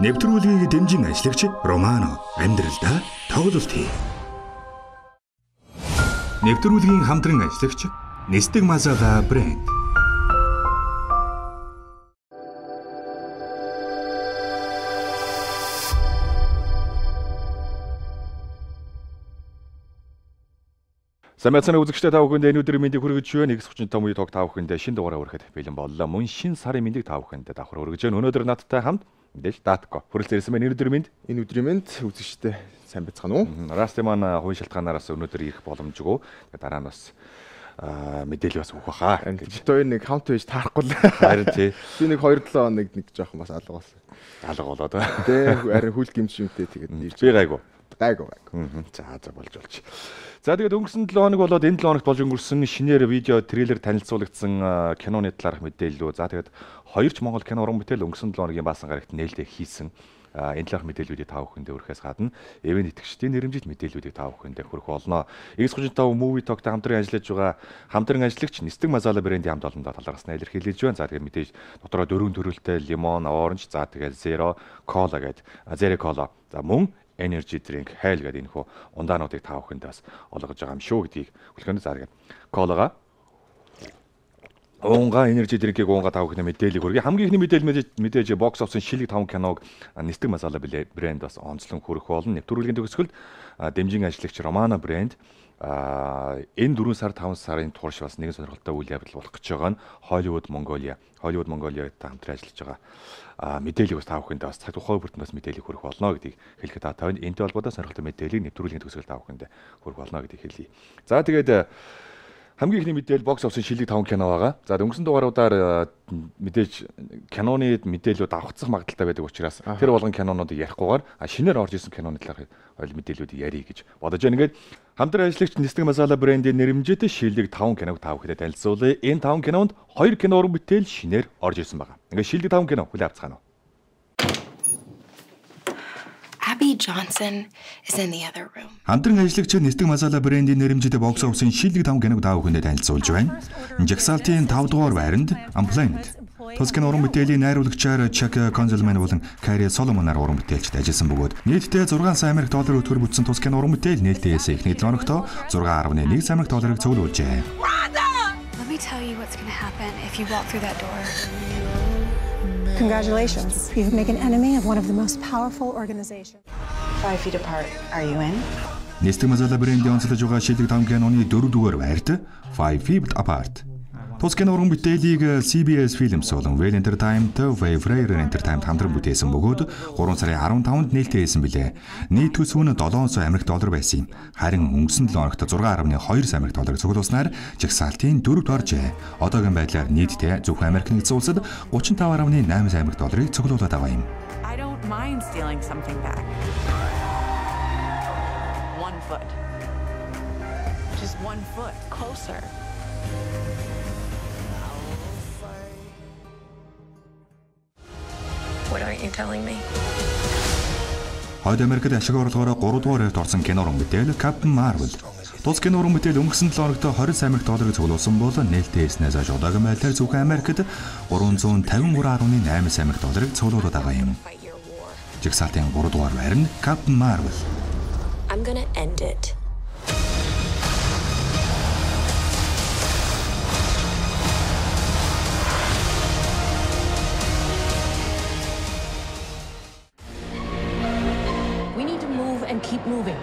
Нэвтрүүлгийг дэмжин ажиллагч Романо амьдралдаа тоглолт хий. Нэвтрүүлгийн хамтран ажиллагч Нестэг Мазала брэнд. Самцаны үзэгчтэй та бүхэнд энэ өдрийн мэндийг хүргэж байна. X35 муу тог та бүхэнд шинэ дугаараа хүрэхэд бэлэн боллоо. Мөн шинэ сарын мэндийг та бүхэнд давхар хүргэж байна. Өнөөдөр надтай хамт мэдээж Датко хүрэлцэн ирсэн байна. Энэ өдрийн мэнд үзэгчтэй сайн байцгаана уу? Расти маань хувийн шалтгаанараас өнөөдөр ирэх боломжгүй. Тэгээд дараа нь бас мэдээлэл бас өгөх баха. Битүүр нэг хаунт байж таарахгүй л. Харин тий. Би нэг 2-7 хоног нэг жоохон бас алга болсон. Алга болоод. Тэ харин хүл гимшимтэй тэгээд ирж. Би гайгүй. За болж. За тэгээд өнгөрсөн 7 хоног болоод энэ 7 хоногт болж өнгөрсөн шинээр видео трейлер танилцуулагдсан киноны талаарх мэдээлэл. За тэгээд хоёрч Монгол кино уран бүтээл өнгөрсөн 7 хоногийн баасан гарагт нээлттэй хийсэн энэ талаарх мэдээллүүдийг та бүхэндээ өргөхөөс гадна эвэн итгэгчдийн нэрэмжит мэдээллүүдийг та бүхэндээ хүргэх болно. X35 Movie Talk-тай хамтран ажиллаж байгаа хамтран ажиллагч Нестэг Мазала брендийн хамт олондоо талаараас нь илэрхийлж байна. За тэгээд мэдээж дотроо 4 төрөлтэй лимон, оранж, за тэгээд Zero Cola гэдэг Zero Cola. За мөн Energy Drink хайл гэдэг энэ хөө ундаануудыг та бүхэнд бас олгож байгаа юм шүү гэдгийг хүлээн зааргээд Колагаа Унга Energy Drink-ийг унга та бүхэнд мэдээлэл хүргэе. Хамгийн ихний мэдээж бокс офисын шилэг 5 киног Нестэг Мазала брэнд бас онцлон хүргэх болно. Нэвтрүүлгийн төгсгөлд дэмжин ажиллагч Романо брэнд энэ 4 сар 5 сарын турш бас нэгэн сонирхолтой үйл явдал болох гэж байгаа нь Hollywood Mongolia-тай хамтран ажиллаж байгаа мэдээллийг бас та бүхэнд бас цаг тухай бүртэн бас мэдээлэл хүргэх болно гэдгийг хэлэхэд та энэ энэтэй холбоотой сонирхолтой мэдээллийг нэвтрүүлгийн төгсгөл та бүхэнд хүргэх болно гэдгийг хэлье. За тэгээд хамгийн ихний мэдээлэл бокс офисын шилэг 5 кино байгаа. За өнгөрсөн дугааруудаар мэдээж киноны мэдээлэлүүд авахцах магадaltaй байдаг учраас тэр болгон кинонуудыг ярихгүйгээр шинээр орж исэн киноны талаар мэдээллүүдийг ярих гэж бодож байна. Ингээд хамтран ажиллагч Нестэг Мазала брендийн нэрэмжит шилэг 5 киног та бүхэнд танилцуулъя. Энэ 5 кинонд 2 кино уран бүтээл шинээр орж ирсэн байгаа. Ингээд шилэг 5 кино хүлээн авцгаана. Abby Johnson is in the other room. Хамтран ажиллагч Нестэг Мазала брендийн нэрэмжит бокс офисын шилдэг 5 киног та бүхэнд танилцуулж байна. Жагсаалтын 5 дугаар байранд Unplanned. Тоскин уран бүтээлийн найруулагчаар Чак Конзелман болон Кари Соломонаар уран бүтээлчд ажилласан бөгөөд нийтдээ 6 сая $6 өтгөр бүтсэн Тоскин уран бүтээл нээлтээс эхний 7 хоногт 6.1 сая $6 цуглуулжээ. Let me tell you what's going to happen if you walk through that door. Congratulations. You've made an enemy of one of the most powerful organizations. 5 feet apart. Are you in? Нестэг Мазала брендийн онцлож байгаа шилдэг 5 киноны 4 дугаар байрт 5 Feet Apart. Тоскин уран бүтээлийг CBS Films болон Well Entertainment, Waverider Entertainment хамтран бүтээсэн бөгөөд 3 сарын 15-нд нээлттэй хийсэн билээ. Нийт төсөв нь $700 байсан юм. Харин өнгөрсөн 7 хоногт $6.2 сая цуглуулснаар жагсаалтын 4-т оржээ. Одоогийн байдлаар нийтдээ зөвхөн Америк нэгдсэн улсад $35.8 сая цуглуулад байгаа юм. I don't mind stealing something back. 1 foot. Just 1 foot closer. What aren't you telling me? Хойд Америкт ашиг орлогоороо 3 дугаар байрт орсон кино уран бүтээл Captain Marvel. Тус кино уран бүтээл өнгөрсөн 7 хоногт $20 сая цуглуулсан бол нээлттэй хийснээс хойш одоогийн байдлаар зөвхөн Америкт $353.8 сая цуглуулад байгаа юм. Жагсаалтын 3 дугаар байр нь Captain Marvel. I'm gonna end it. Keep moving.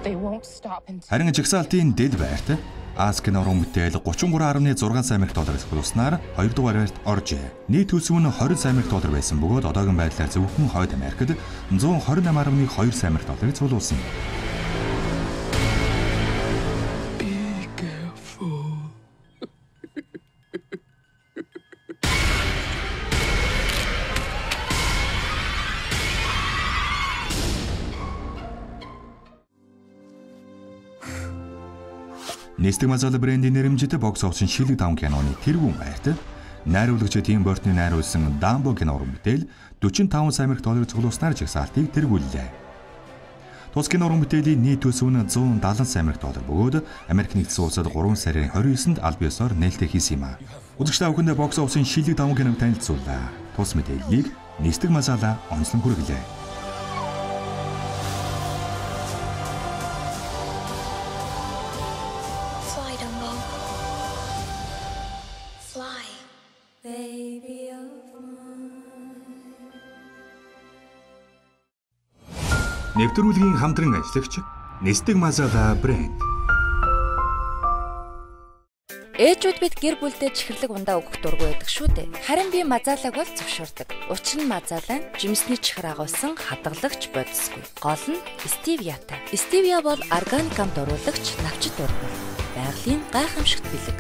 They won't stop until. Харин жагсаалтын дэд байрт Аскин уран бүтээл $33.6 сая цуглуулснаар 2 дугаар байрт оржээ. Нийт төлөв нь $20 сая байсан бөгөөд одоогийн байдлаар зөвхөн Хойд Америкт $128.2 сая цуглуулсан. Нестэг Мазала брендийн нэрэмжит бокс офисын шилэг 5 киноны тэргүүн байрт найруулагч Тим Бёртны найруулсан Дамбо кино уран бүтээл $45 сая цуглуулснаар жагсаалтыг тэргүүллээ. Тус кино уран бүтээлийн нийт төлөв нь $170 сая бөгөөд Америк нэгдсэн улсад 3 сарын 29-нд аль биесээр нээлттэй хийсэн юм а. Үзэгч та бүхэнд бокс офисын шилэг 5 киног танилцууллаа. тус мэдээллийг Нисдэг Масала онцлон хүргэлээ. Fly, Dumbo. Fly. Baby of Нэвтрүүлгийн хамтран ажиллагч Нисдэг Масала брэнд. Ээжүүд бид гэр бүлдээ чихэрлэг ундаа өгөх дургүй байдаг шүү дээ. Харин би мазаалаг бол зөвшөөрдөг. Учир нь мазаалаа нь жимсний чихэр агуулсан хадгалагч бодисгүй. Гол нь стевиатай. Стевиа бол органик амд оруулагч навчит ургамал. Байгалийн гайхамшигт бэлэг.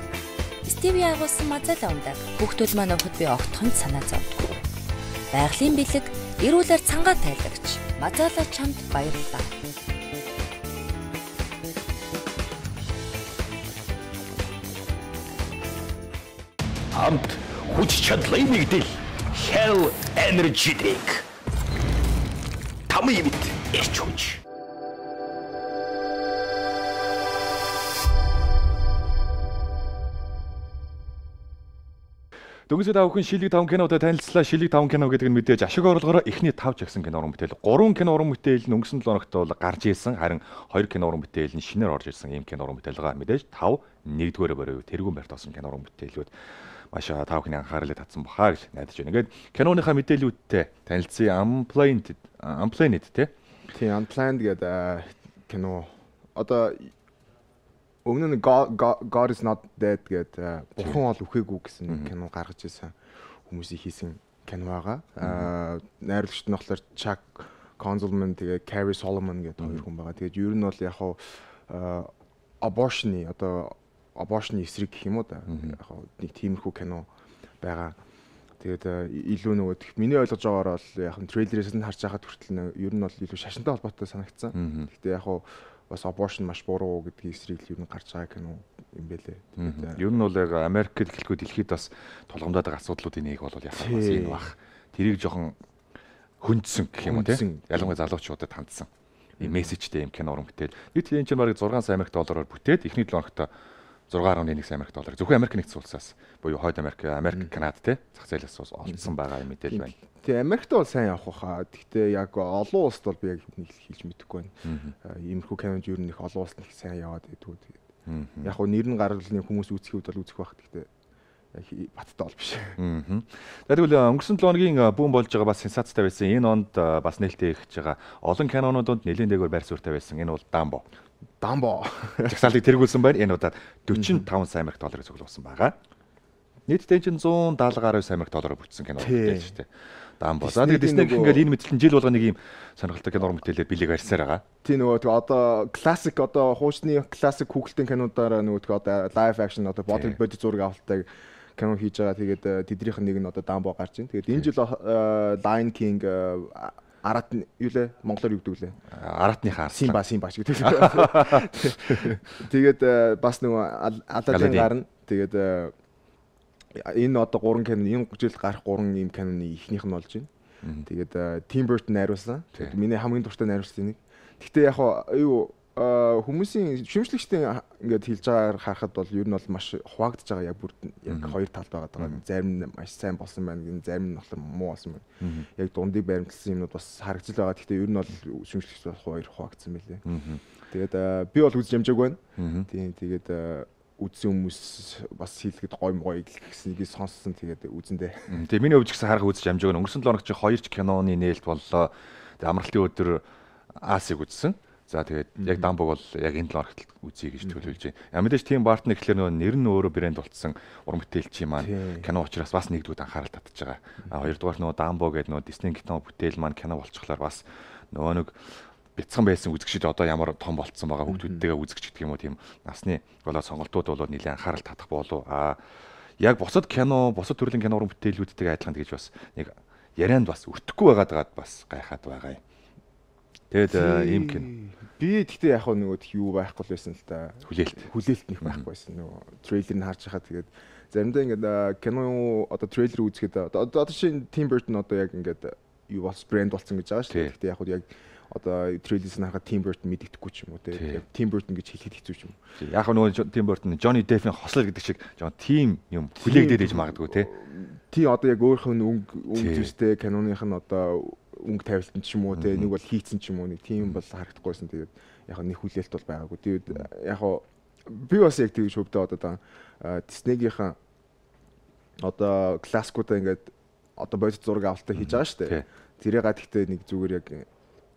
Стевиа агуулсан мазаалаа ундааг хүүхдүүд маань өвхөд би огтхонд санаа зовдгүй. Байгалийн бэлэг эрүүлэр цангаа тайлагч. Мазаалаа чамд баярлалаа. Амт хүч чадлын нэгдэл Hell Energy Drink. Тамийн мэд эрч хүч. Дөнгөж та бүхэн Шилэг 5 кинодод танилцлаа. Шилэг 5 кино гэдэг нь мэдээж ашиг орлогоороо эхний 5 жагсан кино уран бүтээл. 3 кино уран бүтээл нь өнгөрсөн 7 хоногт бол гарч ирсэн. Харин 2 кино уран бүтээл нь шинээр орж ирсэн ийм кино уран бүтээл байгаа. Мэдээж 5 нэгдүгээр барив тэргүүн барьт болсон кино уран бүтээлүүд маш та бүхний анхаарлыг татсан бахаа гэж найдаж байна. Ингээд киноныхаа мэдээлүүдтэй танилцъя. Unplanned тий. Тийм Unplanned гэдэг кино. Одоо өмнө нь God is not dead гэдэг бурхан бол үхээгүй гэсэн кино гаргаж ирсэн хүмүүсийн хийсэн кино байгаа. Найруулагч нь болохоор Chuck Konzelman тэгээ Carrie Solomon гэдэг хоёр хүн байгаа. Тэгээд ер нь бол яг хаа abortion-ы эсрэг гэх юм уу да. Яг хаа нэг тиймэрхүү кино байгаа. Тэгээд илүү нөгөө миний ойлгож байгаагаар бол яг нь трейлерээс нь харж байхад хүртэл ер нь бол илүү шашинтай холбоотой санагдсан. Гэхдээ яг хаа бас abortion маш буруу гэдгийг эсрэг л юу гарч байгаа кино юм бэлээ. Ер нь бол яг Америкт гэлгүй дэлхийд бас тулгамдаад байгаа асуудлуудын нэг бол яг бас энэ баг. Тэрийг жоохон хөндсөн гэх юм уу тийм. Ялангуяа залуучуудад хандсан. Ийм мессежтэй юм кино уран бүтээл. Нийт энэ чинь бараг 6 сая Америк доллараар бүтээд эхний 7 хоногт 6.1 сая Америк доллар. Зөвхөн Америк нэгдсэн улсаас буюу Хойд Америк, Канада тийм зах зээлээс олдсон байгаа юм мэдээлэл байна. Тэгээ Америкт бол сайн явах хаа. Гэхдээ яг олон улсад бол би яг нэг хэлж мэдэхгүй байна. Иймэрхүү кинонд ер нь их олон улсад их сайн яваад байдгүй. Тэгээд яг хөө нэр нь гаргалны хүмүүс үзэх үед бол үзэх байх. Гэхдээ яг баттай бол биш. Тэгвэл өнгөрсөн 7 хоногийн бүүн болж байгаа бас сенсацтай байсан. Энэ онд бас нээлттэй ихж байгаа олон кинонуудад нэлээд дээгүүр байр суурьтай байсан. Энэ бол Дамбо. Жагсаалтыг тэргүүлсэн байна. Энэ удаад 45 сая Америк долларыг цуглуулсан байгаа. Нийтдээ чинь 170 гаруй сая Америк доллараар бүтсэн кино гэдэг шүү дээ. Дамбо. За тэгээд Disney гэх ингээл энэ мэтлэн жил болгоо нэг юм сонирхолтой кино мэдээлэл бэлэг барьсаар байгаа. Тийм нөгөө одоо классик одоо хуучны классик хүүхэлдэйн кинодаараа нөгөө одоо live action одоо body зураг авалттай кино хийж байгаа. Тэгээд тэднийх нь нэг нь одоо Дамбо гарч ийн. Тэгээд энэ жил Lion King Арат юу лээ монголоор юу гэдэг лээ? Аратныхаа Симба ч гэдэг. Тэгээд бас нөгөө Аладдин гарна. Тэгээд энэ одоо 3 кино энэ жил гарах 3 ийм киноны ихнийх нь болж байна. Тэгээд Tim Burton найруулсан. Миний хамгийн дуртай найруулагч нэг. Гэхдээ яг юу хүмүүсийн шүмжлэгчдийн ингээд хэлж байгаагаар харахад бол ер нь бол маш хуваагдж байгаа яг бүр яг хоёр талд байгаа. Зарим нь маш сайн болсон байна, зарим нь болохоор муу болсон байна. Яг дундыг баримтлсан юмнууд бас харагдаж байгаа. Гэхдээ ер нь бол шүмжлэгч бол хоёр хуваагдсан байлээ. Тэгээд би бол үзэж амжааг байна. Тийм тэгээд үзсэн хүмүүс бас хийлгэхэд гоё гэснийг сонссон. Тэгээд үзэндээ. Тэгээ миний өвч гэсэн харах үзэж амжааг. Өнгөрсөн 7 хоног чинь 2 ч киноны нээлт боллоо. Тэгээ амралтын өдөр Асиг үзсэн. За тэгээд яг Дамбог бол яг энэ 7 хоногт үзье гэж төлөвлөж байна. Мэдээж Tim Burton гэхлээр нэр нь өөрөө брэнд болцсон уран бүтээлчийн маань кино учраас бас нэгдүгээр анхаарал татж байгаа. Хоёрдугаар Дамбо гэдэг Disney кино бүтээл маань кино болчихлоор бас нэг бяцхан байсан үзэгчид одоо ямар том болцсон байгаа хүүхдүүдтэйгээ үзэгч гэдэг юм уу тийм насны болоо сонголтууд бол нэлээд анхаарал татах болов. Яг бусад төрлийн кино уран бүтээлүүдтэйгээ адилхан гэж бас нэг ярианд бас өртөхгүй байгаад бас гайхаад байгаа юм. Тэгээд ийм кино. Би тэгтээ яг нөгөө юу байхгүй л байсан л да. Хүлээлт нэг байхгүй байсан. Нөгөө трейлер нь харж байхад тэгээд заримдаа ингээд кино одоо трейлер үзэхэд одоо чинь Tim Burton одоо яг ингээд юу бас брэнд болсон гэж байгаа шүү дээ. Тэгтээ яг одоо трейлерс нь харахад Tim Burton мэддэхгүй ч юм уу те. Tim Burton гэж хэлэхэд хэцүү ч юм уу. Яг нөгөө Tim Burton Johnny Depp-ийн хослол гэдэг шиг жоо team юм хүлээгдээд ээж магадгүй те. тий одоо яг өөрийнх нь өнгө зүйлтэй киноных нь одоо өнгө тавилтан ч юм уу те нэг бол хийцэн ч юм уу нэг тийм бол харагдахгүйсэн. Тэгээд яг нэг хүлээлт бол байгаагүй. Тэгээд яг би бас яг тэгж хөвдөө одоо Disney-гийнхэн одоо классикуудаа ингээд одоо бодит зураг авалтаа хийж байгаа шүү дээ. Тэрийг гэхдээ нэг зүгээр яг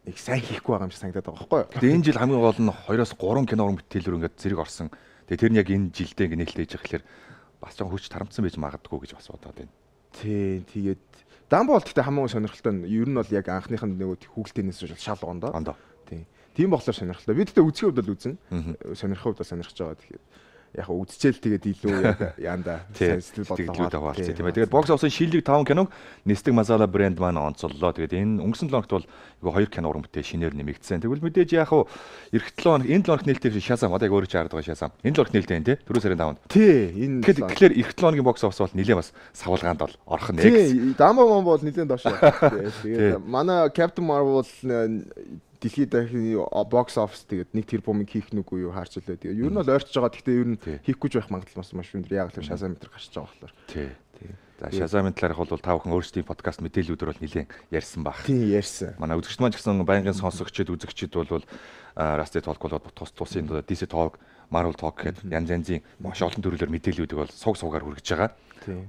их сайн хийхгүй байгаа юм шиг санагдаад байгаа байхгүй юу? Тэгээд энэ жил хамгийн гол нь 2-3 кино уран бүтээлээр ингээд зэрэг орсон. Тэгээд тэр нь яг энэ жилдээ ингээд нээлттэй хийж байгаа хэрэг бас ч хүч тарамдсан байж магадгүй гэж бас бодоод байна. Тий, тэгээд Дамбол гэхдээ хамгийн сонирхолтой нь ер нь бол яг анхных нь нөгөө хүүхэлтэйнээс шал ондоо. Тий. Тийм болохоор сонирхолтой. Би тэгтээ үзэх хувьд бол үзэн. Сонирхох хувьд бол сонирхож байгаа. Тэгэхээр яг үзчихэл тэгээд илүү яг яанда сэтгэл бодлоо хаваалцсан тийм ээ. Тэгээд бокс офисын шилдэг 5 киног Нестэг Масала брэнд маань онцоллоо. Тэгээд энэ өнгөрсөн 7 хоногт бол айгүй 2 кино уран бүтээл шинээр нэмэгдсэн. Тэгвэл мэдээж яг эх 7 хоног энэ 7 хоногт нээлттэй Шазам одоо яг өөрөө чаард байгаа Шазам. Энэ 7 хоногт нээлттэй тийм 4 сарын 5-нд. Тий. Энэ тэгэхээр эх 7 хоногийн бокс офис бол нэлээд бас савлгаанд бол орох нь. Тий. Дамбо бол нэлээд доош. Тэгээд манай Captain Marvel дэлхийд дахин бокс офис тэгээд 1 тэрбумыг хийх нүггүй юу харж илээ. Тэгээд ер нь бол ойртож байгаа. Гэхдээ ер нь хийхгүй байх магадлал маш өндөр. Яг л Шазам метр гарч байгаа болохоор. Тий. За Шазамын талаарх бол та бүхэн өөрсдийн подкаст мэдээллүүдээр бол нэлээд ярьсан баг. Тий, ярьсан. Манай үзэгчд маань ч гэсэн байнгын сонсогчид үзэгчид бол Rusty Talk бол тусын DC Talk, Marvel Talk гэдэг янз янзын маш олон төрлөөр мэдээллүүдийг бол сугаар хүргэж байгаа.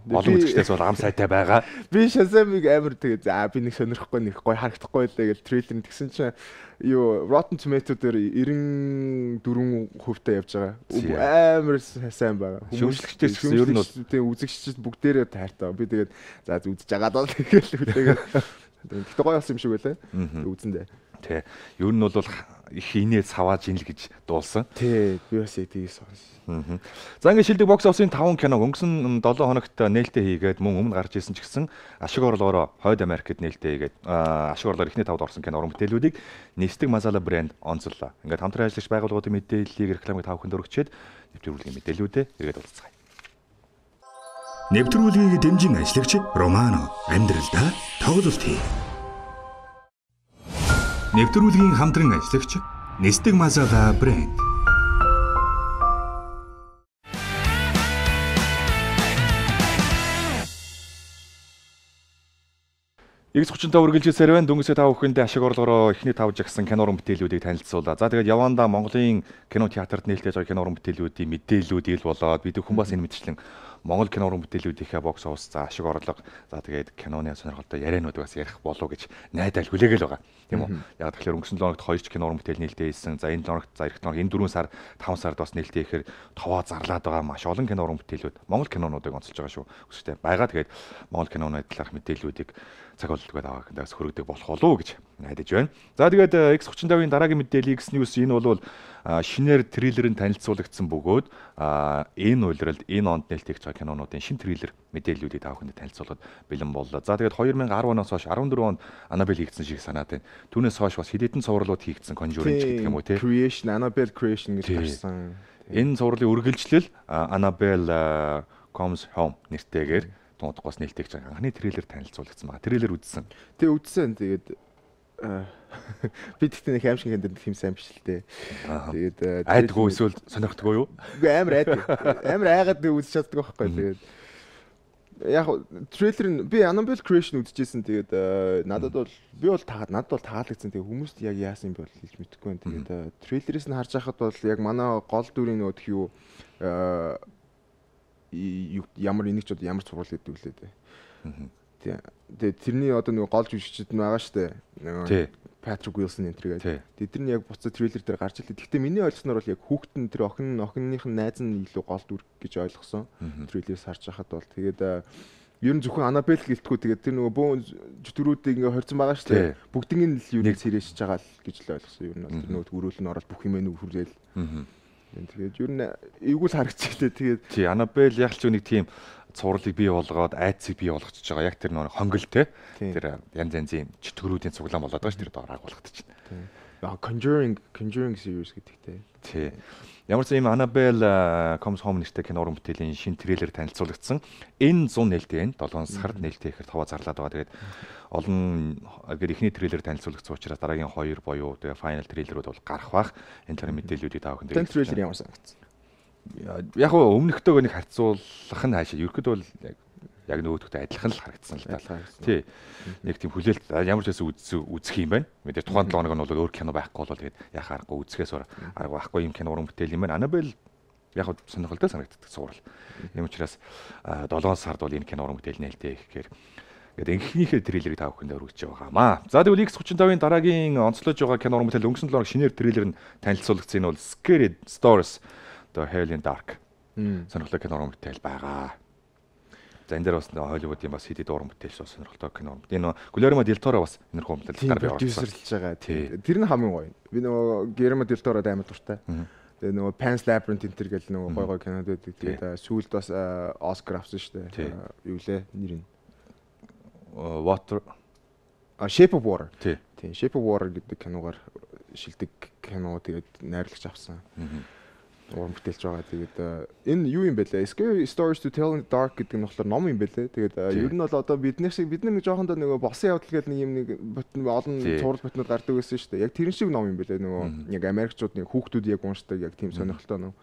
Олон үзэгчдээс бол ам сайтай байгаа. Би Shazam-ыг амар тэгээ за би нэг сонирхгүй нэг гоё харагдахгүй байлаа гэж трейлер тэгсэн чинь юу Rotten Tomato дээр 94% явж байгаа. Амар сайн байгаа. Шүүмжлэгчдээс ер нь бол тэгээ үзэгчид бүгдээрээ таартай. Би тэгээд за үзэж байгаа даа тэгээд тэгтээ гоё болсон юм шиг байлаа. Үзэндээ. Тэ. Ер нь бол их инээ цавааж ин л гэж дуулсан. Тий, би бас тийгээс сонс. За ингээд шилдэг бокс офисын 5 киног өнгөрсөн 7 хоногт нээлттэй хийгээд мөн өмнө гарч ирсэн ч гэсэн ашиг орлогоороо Хойд Америкт нээлттэй хийгээд ашиг орлогоор эхний 5-д орсон кино уран бүтээлүүдийг Нестэг Масала брэнд онцоллоо. Ингээд хамтран ажиллагч байгууллагуудын мэдээллийг рекламыг та бүхэнд өргөчөөд нэвтрүүлгийн мэдээллүүдээ эргээд уулзцгаая. Нэвтрүүлгийг дэмжин ажиллагч Романо амьдралдаа тоглолт хий. Нэвтрүүлгийн хамтран ажиллагч Нестэг Масала брэнд. X35 үргэлжилсээр байна. Дүнгийн та бүхэндээ ашиг орлогоороо эхний 5 жагсан кино уран бүтээлүүдийг танилцуулаа. За тэгээд явандаа Монголын кино театрт нээлттэй байгаа кино уран бүтээлүүдийн мэдээллүүд ил болоод бид хүн бас энэ мэдчлэн Монгол кино уран бүтээлүүдийнхээ бокс офис за ашиг орлого за тэгээд киноны сонирхолтой ярианууд бас ярих болов гэж найдаал хүлээгээл байгаа. Тийм үү? Яг тэгэхээр өнгөрсөн 7 хоногт 2 ч кино уран бүтээл нээлттэй хийсэн. За энэ 7 хоногт за эх 7 хоног энэ 4 сар 5 сард бас нээлттэй ихээр товоо зарлаад байгаа маш олон кино уран бүтээлүүд Монгол кинонуудыг онцолж байгаа шүү. Өсөлтөө байгаа. Тэгээд Монгол киноны талаарх мэдээллүүдийг цаг болтойгоо аваагаас хөрөгдөг болох болов уу гэж найдаж байна. За тэгээд X35-ын дараагийн мэдээлэл X News энэ бол шинээр трейлерын танилцуулагдсан бөгөөд энэ үйлрэлд энэ онд нээлттэй хийж байгаа кинонуудын шинэ трейлер мэдээллүүдийг та бүхэнд танилцуулахад бэлэн боллоо. За тэгээд 2010 оноос хойш 14 онд Annabelle хийгдсэн шиг санаад байна. Түүнээс хойш бас хэдэн цувралууд хийгдсэн Conjuring гэдэг юм уу те. Creation, Annabelle Creation гэж гарсан. Энэ цувралын үргэлжлэл Annabelle Comes Home нэртэйгээр тунадгаас нээлттэй гэж анхны трейлер танилцуулагдсан байна. Трейлер үзсэн. Тэг үзсэн. Тэгээд би тэгтээ нэг аимшиг хэмдэр хэм сайн биш л дээ. Тэгээд айдгүй эсвэл сонирхдаггүй юу? Үгүй амар айдаг. Амар айгаад үзэж чаддаг байхгүй. Тэгээд яг трейлер нь би Annabelle Creation үзчихсэн. Тэгээд надад бол таалагдсан. Тэгээд хүмүүст яг яасан юм бол хэлж мэдэхгүй байна. Тэгээд трейлерээс нь харж байхад бол яг манай гол дүрийн нөт юу ямар энийг ч ямар цуврал гэдэг үлээ дээ. Тэгээд тэрний одоо нэг гол жүжигчд нь байгаа штэ. Patrick Wilson энэ төргээд. Тэр нь яг буцаа трейлер дээр гарч ирлээ. Гэхдээ миний ойлгосноор бол яг хүүхдэн тэр охиных нь найз нь илүү гол дүр гэж ойлгосон. Трейлерээс харж байхад бол тэгээд ер нь зөвхөн Annabelle гэлтгүү тэгээд тэр нөгөө бөөн зүтрүүдийг ингээ хорцсон байгаа штэ. Бүгднийг нь л юу нэг сэрээшж байгаа л гэж л ойлгосон. Ер нь бол тэр нөгөө өрөөл нь ороод бүх юм нөхрөөл. Тэгээд ер нь эвгүй л харагдчихлээ. Тэгээд тий Annabelle яг ч нэг тийм цувралыг бий болгоод айцыг бий болгочихж байгаа. Яг тэр нэг хонгол те. Тэр янз янзын чөтгөрүүдийн цуглаан болоод байгаа ш тэр доор агуулгадаг чинь. Conjuring series гэдэгтэй. Тий. Ямар ч юм Annabelle Comes Home нэртэй кино уран бүтээлийн шинэ трейлер танилцуулагдсан. Энэ 100 нээлттэй 7 сард нээлттэй ихээр товоо зарлаад байгаа. Тэгээд олон гэр ихний трейлер танилцуулагдсан учраас дараагийн 2 буюу тэгээ final трейлерүүд бол гарах бах. Энэ талын мэдээллүүдийг та бүхэнд энэ трейлер ямар санагдсан? Яг өмнөхтэйгөө нэг харьцуулах нь хаашаа. Ерөнхийдөө бол яг нөгөөдөгтэй адилхан л харагдсан л да. Тий. Нэг тийм хүлээлт ямар ч байсан үзэх юм байна. Мэдээ тухайн 7 хоног нь бол өөр кино байхгүй бол тэгээд яхаа аргагүй үзэхээс арга байхгүй юм кино уран бүтээл юм байна. Annabelle яг сонирхолтой санагддаг суурал. Ийм учраас 7 сард бол энэ кино уран бүтээл нээлттэй гэхээр ингээд энхнийхээ трейлерыг та бүхэнд өргөж байгаамаа. За тэгвэл X35-ын дараагийн онцлож байгаа кино уран бүтээл өнгөрсөн 7 хоног шинээр трейлер нь танилцуулагдсан. Энэ бол Scared Stories The Hell in Dark. Сонирхолтой кино уран бүтээл байгаа. За энэ дээр бас Hollywood-ийн бас хэд уран бүтээлч сонирхолтой кино. Энэ Guillermo del Toro бас энэ уран бүтээлээр продюсерлж байгаа. Тэр нь хамгийн гоё. Би нөгөө Guillermo del Toro амар дуртай. Тэгээ нөгөө Pan's Labyrinth энэ төр гэл нөгөө гоё гоё кинод байдаг. Тэгээд сүүлд бас Oscar авсан шүү дээ. Юу лээ нэр нь? Water Shape of Water. Тийм. Shape of Water гэдэг киногаар шилдэг кино тэгээд найруулагч авсан. Уран бүтээлч байгаа. Тэгээд энэ юу юм бэ лээ? Scary Stories to Tell in the Dark гэдэг нь болохоор ном юм бэ лээ. Тэгээд ер нь бол одоо бид нар нэг жоохондоо нөгөө босон явдал гэл нэг юм нэг олон цуврал ботнод гардаг байсан шүү дээ. Яг тэрэн шиг ном юм бэ лээ. Нөгөө яг Америкчууд нэг хүүхдүүд яг уншдаг яг тийм сонирхолтой ном.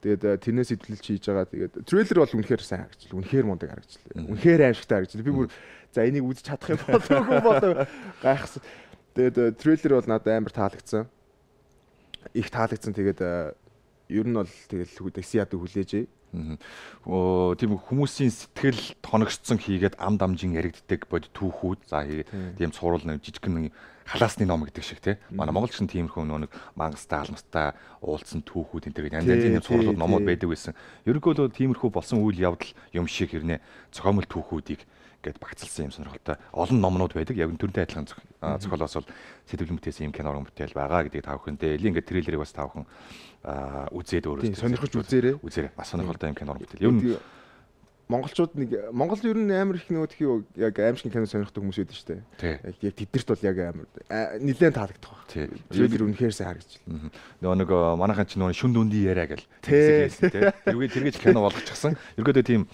Тэгээд тэрнээс идэлж хийж байгаа. Тэгээд трейлер бол үнэхээр сайн харагдчихлаа. Үнэхээр мундаг харагдчихлаа. Үнэхээр аимшигтай харагдчихлаа. Би бүр за энийг үзэж чадах юм болов гайхсан. Тэгээд трейлер бол надад амар таалагдсан. Их таалагдсан. Тэгээд ер нь бол тэгэл Дексиад хүлээжээ. Тийм хүмүүсийн сэтгэл тоногцсон хийгээд ам дамжин яригддаг бод түүхүүд. За тийм цуврал нэг жижигхэн халаасны ном гэдэг шиг тий. Манай монголч нь тиймэрхүү нэг мангастай алмастай уулзсан түүхүүд энэ төр янз янзын цувралууд номууд байдаг байсан. Ерөнхийдөө тиймэрхүү болсон үйл явдал юм шиг хэрнээ цохомл түүхүүдийг гээд багцлсан юм сонирхолтой олон номнууд байдаг. Яг төрөнтэй адилхан зохиолоос бол сэтгэл бүтээсэн юм кино уран бүтээл байгаа гэдгийг та бүхэндээ ингээд трейлерыг бас та бүхэн үзээд өөрөө сонирхож үзээрэй. Бас сонирхолтой юм кино уран бүтээл. Ер нь монголчууд нэг Монгол ер нь амар их нөгөө яг аимшиг кино сонирхдаг хүмүүс байдаг шүү дээ. Яг тэдэрт бол яг амар нэлээд таалагдах баг. Трейлер үнэхээр сайн харагдчихлаа. Нэг манайхан ч нөгөө шүн дүндий яриа гэл хэлсэн тий. Тэргээж кино болгочихсон. Ерөөдөө тийм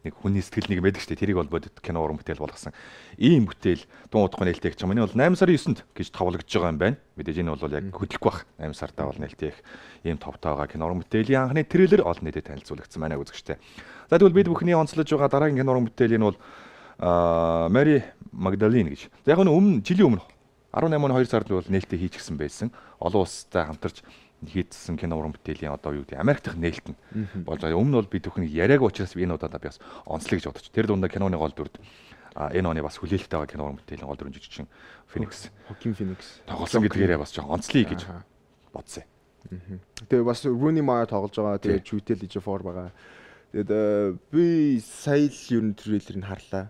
нэг хүний сэтгэл нэг байдаг шүү дээ. Тэрийг бол бодит кино уран бүтээл болгосон. Ийм бүтээл дуун утгааны нээлттэй гэж байна. Энэ бол 8 сарын 9-нд гэж товлогдож байгаа юм байна. Мэдээж энэ бол яг хөдлөх бах. 8 сартаа бол нээлттэй ийм товтой байгаа кино уран бүтээлийн анхны трейлер олон нийтэд танилцуулагдсан байна үзэгчтэй. За тэгвэл бид бүхний онцлож байгаа дараагийн кино уран бүтээл энэ бол Mary Magdalene гэж. За яг нь жилийн өмнө 18 оны 2 сард бол нээлттэй хийчихсэн байсан. Олон улстай хамтарч хийдсэн кино уран бүтээлийн одоо юу гэдэг Америк дахь нээлт нь болж байгаа. Өмнө нь бол бид бүхний яриаг учраас энэ удаа би бас онцлог гэж бодож. Тэр дундаа киноны гол дүрд энэ оны бас хүлээлттэй байгаа кино уран бүтээлийн гол дүрэн жижигчин Phoenix. Joaquin Phoenix тоглосон гэдгээрээ бас жоо онцлоё гэж бодсон. Тэгээ бас Rooney Mara тоглож байгаа. Тэгээ Jude Law байгаа. Тэгээд би сая л ер нь трейлерыг харлаа.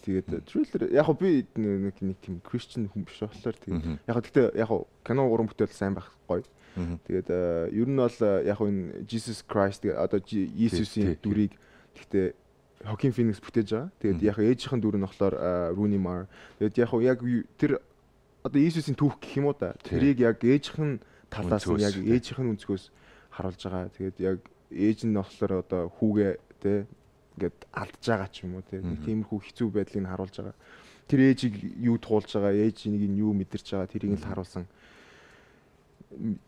Тэгээд трейлер яг би нэг тийм Christian хүн биш болохоор тэгээд яг гэхдээ яг кино уран бүтээл сайн байх гоё. Тэгээд ер нь бол яг энэ Jesus Christ одоо Иесусийн дүрийг гэхдээ Joaquin Phoenix бүтээж байгаа. Тэгээд яг ээжийнхэн дүр нь болохоор Rooney Mara. Тэгээд яг тэр одоо Иесусийн түүх гэх юм уу да. Тэрийг яг ээжийнхэн талаас нь яг ээжийнхэн өнцгөөс харуулж байгаа. Тэгээд яг ээж нь болохоор одоо хүүгээ тэ ингээд алдж байгаа ч юм уу тэ. Тиймэрхүү хэцүү байдлыг нь харуулж байгаа. Тэр ээжийг юу туулж байгаа, ээжийг нь юу мэдэрч байгаа тэрийг л харуулсан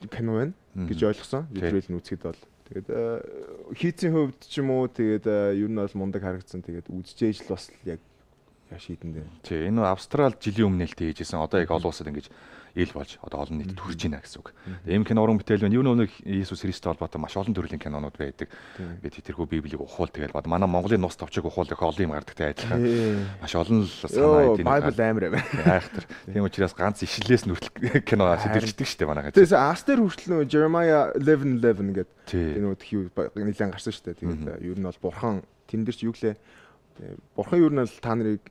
кино байна гэж ойлгосон. Трейлер нь үзэхэд бол тэгээд хийцийн хувьд ч юм уу тэгээд ер нь бол мундаг харагдсан. Тэгээд үзчихээж л бас яг шийдэндээ. Тий, энэ Австрал жилийн өмнө нэлээд хийжсэн. Одоо яг олон улсад ингэж ил болж одоо олон нийтэд хүрч байна гэсэн үг. Ийм кино уран бүтээл байна. Юу нэг Иесус Христос холбоотой маш олон төрлийн кинонууд байдаг. Бид тэрхүү Библийг ухуул тэгэл бод. Манай Монголын нус товчиг ухуул их олон юм гардагтай адилхан. Маш олон л санаа эдийн. Bible амар юм. Айхтар. Тийм учраас ганц ишлээс нүртэл кино сэтэлждэг шүү дээ манайхаа. Тэгээс Астер хүртэл нөө Jeremiah 11:11 гэдэг энэ үт хий нэлээд гарсан шүү дээ. Тэгээд ер нь бол бурхан тэн дээр ч юу гэлээ бурхан юу нь л та нарыг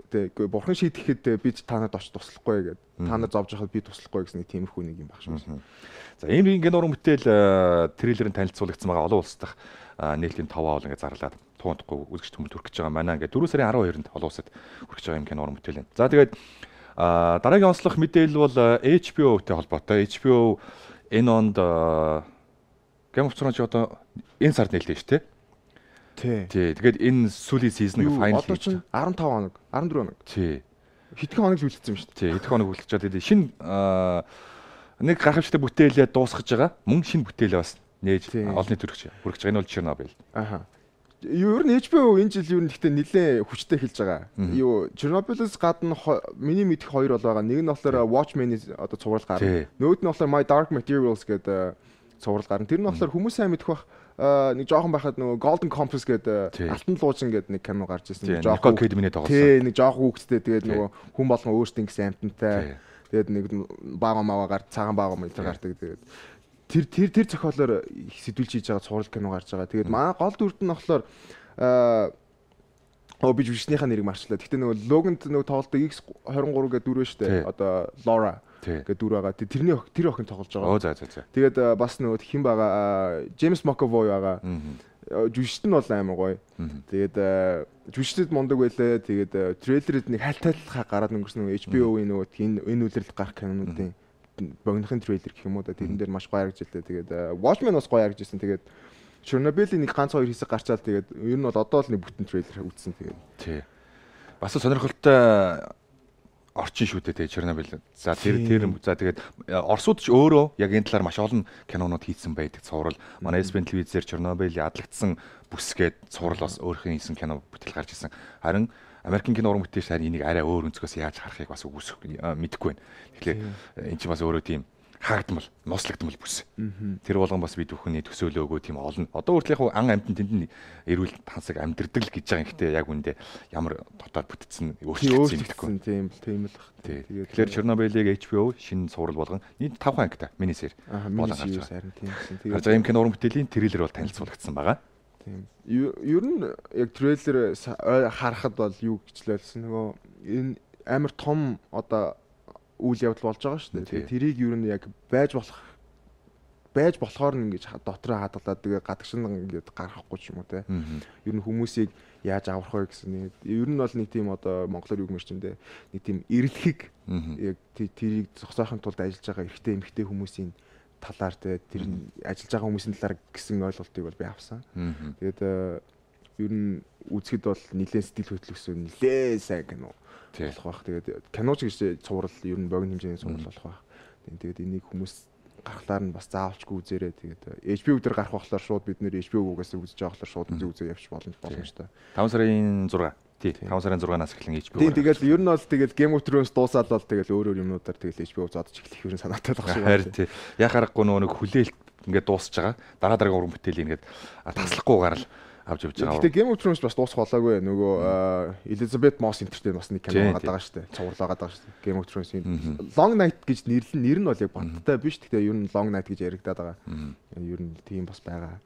бурхан шийдэхэд би та нарт очиж туслахгүй гэдэг. Та нар зовж байхад би туслахгүй гэсэн нэг тиймэрхүү нэг юм баг шүү. За ийм кино уран бүтээл трейлерын танилцуулагдсан байгаа олон улс дахь нээлтийн 5 авал ингээд зарлаад туунахгүй үзэгч хүмүүс хүрэх гэж байгаа манай ингээд 4 сарын 12-нд олон улсад хүрэх гэж байгаа юм кино уран бүтээл байна. За тэгээд дараагийн онцлог мэдээлэл бол HBO-тэй холбоотой. HBO энэ онд Game of Thrones одоо энэ сард нээлттэй шүү дээ. Тий. Тэгээд энэ сүүлийн сизныг файнал хийж 15 хоног, 14 хоног. Тий. Хэдхэн хоног үлдсэн юм шүү дээ. Тий, хэдхэн хоног үлдчихэж тэгээд шинэ нэг гайхамшигтай бүтээлээ дуусгаж байгаа. Мөн шинэ бүтээлээ бас нээж олон нийт хүргэж байгаа. Энэ бол Chernobyl. Аха. Ер нь HBO энэ жил ер нь гэхдээ нэлээд хүчтэй хэлж байгаа. Юу Chernobyl-с гадна миний мэдих хоёр бол байгаа. Нэг нь болохоор Watchmen-ийн одоо цуврал гарна. Нөгөөд нь болохоор My Dark Materials гэдэг цуврал гарна. Тэр нь болохоор хүмүүс сайн мэдэх бах нэг жоохон байхад нөгөө Golden Compass гэдэг Алтан луужин гэдэг нэг кино гарч ирсэн. Nicole Kidman-ийн тоглосон. Тий, нэг жоохон хүүхэдтэй тэгээд нөгөө хүн болгон өөртөө ингэсэн амтантай. Тэгээд нэг баага маваа гард цагаан баага мэтэр гардаг. Тэгээд тэр зохиолоор сэтүүлж хийж байгаа цуврал кино гарч байгаа. Тэгээд манай гол дүрд нь болохоор би жүжигчнийхаа нэрийг марчлаа. Гэхдээ нөгөө Logan-д нөгөө тоглолтоо X23 гэдэг дүр байна шүү дээ. Одоо Laura гэдэг дүр байгаа. Тэр охин тоглож байгаа. Оо за. Тэгээд бас нөгөө хэн байгаа James McAvoy байгаа. Жүжигчт нь бол амар гоё. Тэгээд жүжигчдэд мундаг байлаа. Тэгээд трейлерэд нэг хайлтайлхаа гараад өнгөрсөн нөгөө HBO-ийн нөгөө энэ үйлрэлд гарах кинонуудын богинохын трейлер гэх юм уу да. Тэрэн дээр маш гоё харагдж байлаа. Тэгээд Watchmen бас гоё харагдж байсан. Тэгээд Chernobyl-ийн нэг ганц хоёр хэсэг гарчаад тэгээд ер нь бол одоо л нэг бүтэн трейлер үзсэн тэгээд. Тий. Бас сонирхолтой орчин шүү дээ Chernobyl. За тэр за тэгээд Оросууд ч өөрөө яг энэ талаар маш олон кинонууд хийсэн байдаг. Цуврал манай SBN телевизээр Chernobyl-ийн ядлагдсан бүсгээд цуврал бас өөрхийн хийсэн кино бүтээл гарч ирсэн. Харин Америкийн кино уран бүтээлч харин энийг арай өөр өнцгөөс яаж харахыг бас мэдэхгүй байна. Тэгэхээр эн чинь бас өөрөө тийм хаагдмал, нослогдмал бүс. Тэр болгон бас бид бүхний төсөөлөө өгөө тийм олон. Одоо хүртэл яг ан амьтан тэнд эрүүл тансаг амьдэрдэг л гэж байгаа юм. Гэхдээ яг үндэ ямар дотоод бүтцэн өөрчлөгдсөн юм гэхгүй. Тийм л баг. Тэгэхээр Chernobyl-ийг HBO шинэ цуврал болгон нийт 5 ангитай минисер болон гарч байгаа. Тэгээд ийм кино уран бүтээлийн трейлер бол танилцуулагдсан байгаа. Тийм. Ер нь яг трейлер харахад бол юу гэжлээсэн нөгөө энэ амар том одоо үйл явдал болж байгаа шүү дээ. Тэрийг ер нь яг байж болохоор ингэж дотроо хадгалаад тэгээ гадагшин ингэж гаргахгүй ч юм уу те. Ер нь хүмүүсийг яаж аврах вэ гэсэн. Ер нь бол нэг тийм одоо монголоор юу гэмээр ч юм дээ. Нэг тийм эрэлхийг яг тэрийг зогсоохын тулд ажиллаж байгаа эрэгтэй эмэгтэй хүмүүсийн талаар те тэр ажиллаж байгаа хүмүүсийн талаар гэсэн ойлголтыг бол би авсан. Тэгээд ер нь үзэхэд бол нэлээд сэтгэл хөдлөсөн нэлээд сайн кино болох бах. Тэгээд киноч гэж цуврал ер нь богино хэмжээний цуврал болох бах. Тэгээд энийг хүмүүс гарахлаар нь бас заавалчгүй үзээрэй. Тэгээд HBO дээр гарах болохоор шууд бид нэр HBO-гоос үзэж байгаа болохоор шууд үзээ явчих боломжтой. 5 сарын 6. Тий, 5 сарын 6-наас эхлэн HBO. Тийм тэгээд ер нь бол тэгээд Game of Thrones дуусаад бол тэгээд өөр юмнуудаар тэгээд HBO зодож эхлэх юм санаатай байх шиг байна. Харин тий. Яг харахгүй нэг хүлээлт ингээд дуусч байгаа. Дараа уран бүтээлийн ингээд таслахгүйгээр л авч явж байгаа. Гэхдээ Game of Thrones бас дуусах болоогүй. Нөгөө Elizabeth Moss энтертэй бас нэг кино гараад байгаа шүү дээ. Цувралаагаад байгаа шүү дээ. Game of Thrones-ийн Long Night гэж нэр нь бол яг баттай биш. Гэхдээ ер нь Long Night гэж яригадаад байгаа. Ер нь тийм бас байгаа.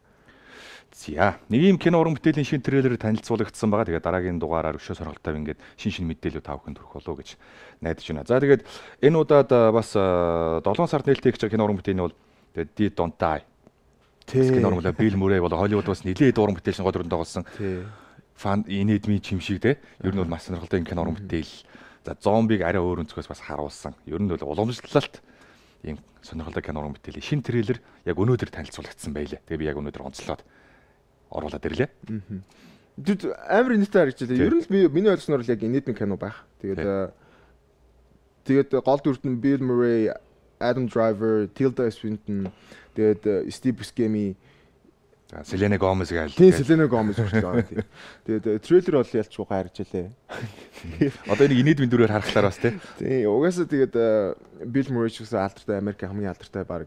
За, нэг юм кино уран бүтээлийн шинэ трейлер танилцуулагдсан байгаа. Тэгээд дараагийн дугаараар өшөө сонирхолтой ингээд шинэ мэдээлэл та бүхэнд хүргэх болов гэж найдаж байна. За тэгээд энэ удаад бас 7 сард нээлттэй гэж кино уран бүтээний бол Dead Don't Die. Кино уран бүтээл Bill Murray бол Hollywood бас нэлээд уран бүтээлч гол дүрэн тоглосон. Фан инэдми чимшиг те. Ер нь бол маш сонирхолтой юм кино уран бүтээл. За, зомбиг арай өөр өнцгөөс бас харуулсан. Ер нь бол уламжлалт ийм сонирхолтой кино уран бүтээлийн шинэ трейлер яг өнөөдөр танилцуулагдсан байлээ. Тэгээд би яг өнөөдөр онцлоод оруулаад ирлээ. Амар нийтээр харагдчихлаа. Ер нь миний ойлгосноор л яг нийтмийн кино байх. Тэгээд гол дүрт нь Bill Murray, Adam Driver, Tilda Swinton, тэгээд Steve Buscemi, Selena Gomez гээл. Тийм Selena Gomez хүртэл байгаа. Тэгээд трейлер бол ялчгүй харагдчихлаа. Одоо энийг инээдмийн дүрээр харахлаар бас тийм. Угаасаа тэгээд Bill Murray ч гэсэн алдартай Америкийн хамгийн алдартай баг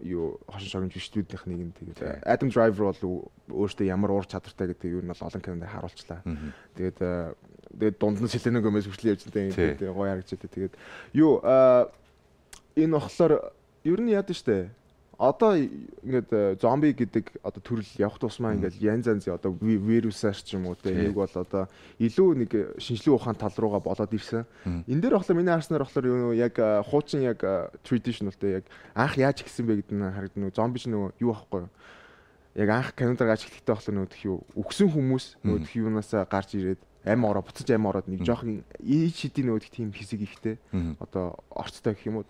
хошин шогны жүжигчдүүдийнх нэг нь тэгээд Adam Driver бол өөртөө ямар уур чадвартай гэдэг юу нь бол олон кинонд харуулчлаа. Тэгээд дунд нь Selena Gomez хүртэл явж байгаа. Тэгээд гоё харагдчихэ. Тэгээд энэ болохоор ер нь яад штэ. Одоо ингээд зомби гэдэг одоо төрөл явах тусмаа ингээд янз янзын одоо вирусаар ч юм уу те нэг бол одоо илүү нэг шинжлэх ухаан тал руугаа болоод ирсэн. Энэ дээр болохоор миний харснаар болохоор яг хуучин яг traditional те яг анх яаж ихсэн бэ гэдэг нь харагдана. Зомби ч нөгөө юу ахгүй. Яг анх кинонд гарч эхлэхдээ болохоор нөгөө юу өгсөн хүмүүс нөгөө юунаасаа гарч ирээд ам ороо буцаж ам ороод нэг жоохон ий шидийн нөгөө тийм хэсэг ихтэй одоо орцтой гэх юм уу.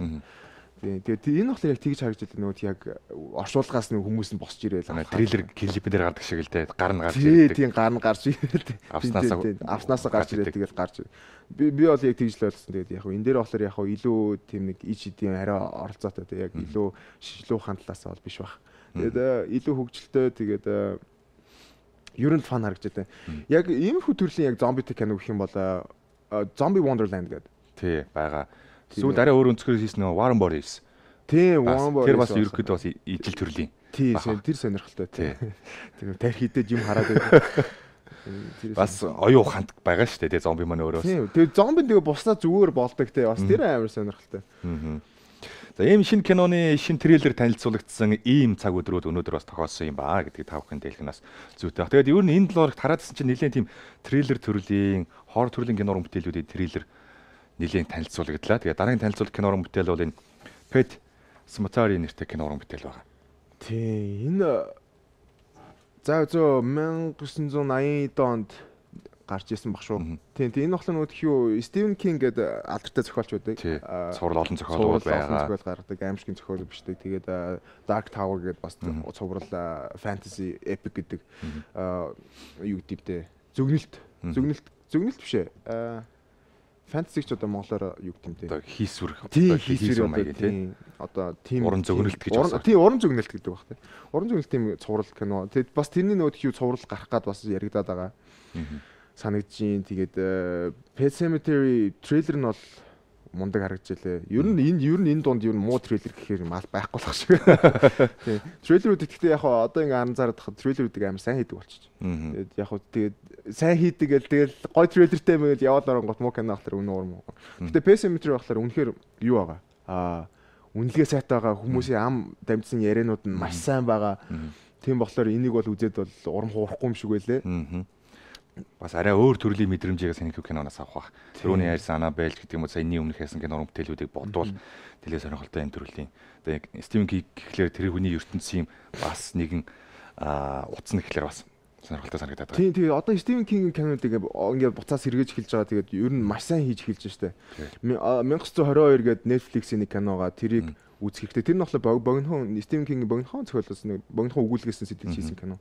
Тэгээд энэ болохоор яг тэгж харагдаж байгаа нөгөө яг оршуулгаас нэг хүмүүс нь босч ирээл трейлер клипээр гардаг шиг л те гар нь гарч ирээд тийм гар нь гарч ирээд авснасаа гарч ирээд тэгээд гарч би бол яг тэгж л ойлгосон. Тэгээд яг энэ дээр болохоор яг илүү тийм нэг ич эдийн арай оролцоотой те яг илүү шинжлэх ухаан талаас бол биш баг. Тэгээд илүү хөгжилтэй тэгээд Ер нь фан харагдаж байна. Яг иймэрхүү төрлийн яг зомбитэй кино гэх юм бол Zombie Wonderland гэдэг. Тий, байгаа. Сүүл арай өөр өнцгөр хийсэн нөгөө Warren Bodies. Тий, Warren Bodies. Тэр бас ерөөхдөө бас ижил төрлийн. Тий, тэр сонирхолтой. Тий. Тэр тарих хидэд юм хараад байдаг. Бас оюу ухаанд байгаа шүү дээ, тий, зомби маань өөрөө. Тий, тэгээ зомби тэгээ буснаа зүгээр болдог тий. Бас тэр амар сонирхолтой. За ийм шинэ киноны шинэ трейлер танилцуулагдсан ийм цаг өдрүүд өнөөдөр бас тохиолсон юм баа гэдгийг та бүхэн дэлгэнээс зүйтэй. Тэгээд ер нь энэ 7 хоногт хараадсан чинь нэлээд тийм трейлер төрлийн, хоррор төрлийн кинорын бүтээлүүдийн трейлер нэлээд танилцуулагдлаа. Тэгээд дараагийн танилцуулах кинорын бүтээл бол энэ Pet Sematary нэртэй кинорын бүтээл байгаа. Тий, энэ за 1980 онд гарч ирсэн баг шүү. Тийм энэ болохоор нөгөө тхиүү Стивен Кинг гэдэг алдартай зохиолч байдаг. Цуврал олон зохиолууд байгаа. Зохиол гаргадаг, аимшигын зохиол бичдэг. Тэгээд Dark Tower гэдэг бас цуврал fantasy epic гэдэг юу гэдэгтэй зөгнөлт биш ээ. Fantasy ч одоо монголоор юу гэмтэй. Одоо хийсвэр маяг тийм. Одоо тийм уран зөгнөлт гэж байна. Тийм уран зөгнөлт гэдэг баг тийм. Уран зөгнөлт тийм цуврал кино. Тэгэд бас тэрний нөгөө тхиүү цуврал гарах гад бас яригадаад байгаа. Санагдчихээн. Тэгээд Pet Sematary трейлер нь бол мундаг харагдчихлээ. Ер нь энэ дунд ер нь муу трейлер гэхээр мал байхгүй болох шиг. Тийм. Трейлерүүд гэхдээ яг одоо ингээ анзаараад хахад трейлерүүдийг амар сайн хийдэг болчих. Тэгээд яг тэгээд сайн хийдэг гэл тэгэл гой трейлертэй мэгэл яваад оронгот муу кино ахлаар үнэ уурм. Гэхдээ Pet Sematary ахлаар үнэхээр юу байгаа? Үнэлгээ сайтай байгаа, хүмүүсийн ам дамжсан ярианууд нь маш сайн байгаа. Тийм болохоор энийг бол үзээд бол урам хуурахгүй юм шиг байлээ. Бас арай өөр төрлийн мэдрэмжийг санийх киноноос авах бах. Тэрүүний ярьсан Annabelle гэдэг юм уу саяны өмнөх яасан кинорын бүтээлүүдийг бодвол тэлээ сонирхолтой юм төрлийн. Тэгээ Стивен Кинг гэхлээр тэр хүний ертөнцийн бас нэгэн утас нь гэхлээр бас сонирхолтой санагдаад байна. Тийм одоо Стивен Кингийн кинонуудыг ингээд буцаас сэргээж эхэлж байгаа. Тэгээд ер нь маш сайн хийж эхэлж штэ. 1922 гээд Netflix-ийн нэг киногаа тэрийг үзэх хэрэгтэй. Тэр нь болохоор богинохон Стивен Кингийн богинохон зохиолоос нэг богинохон өгүүлгээс сэтгэж хийсэн кино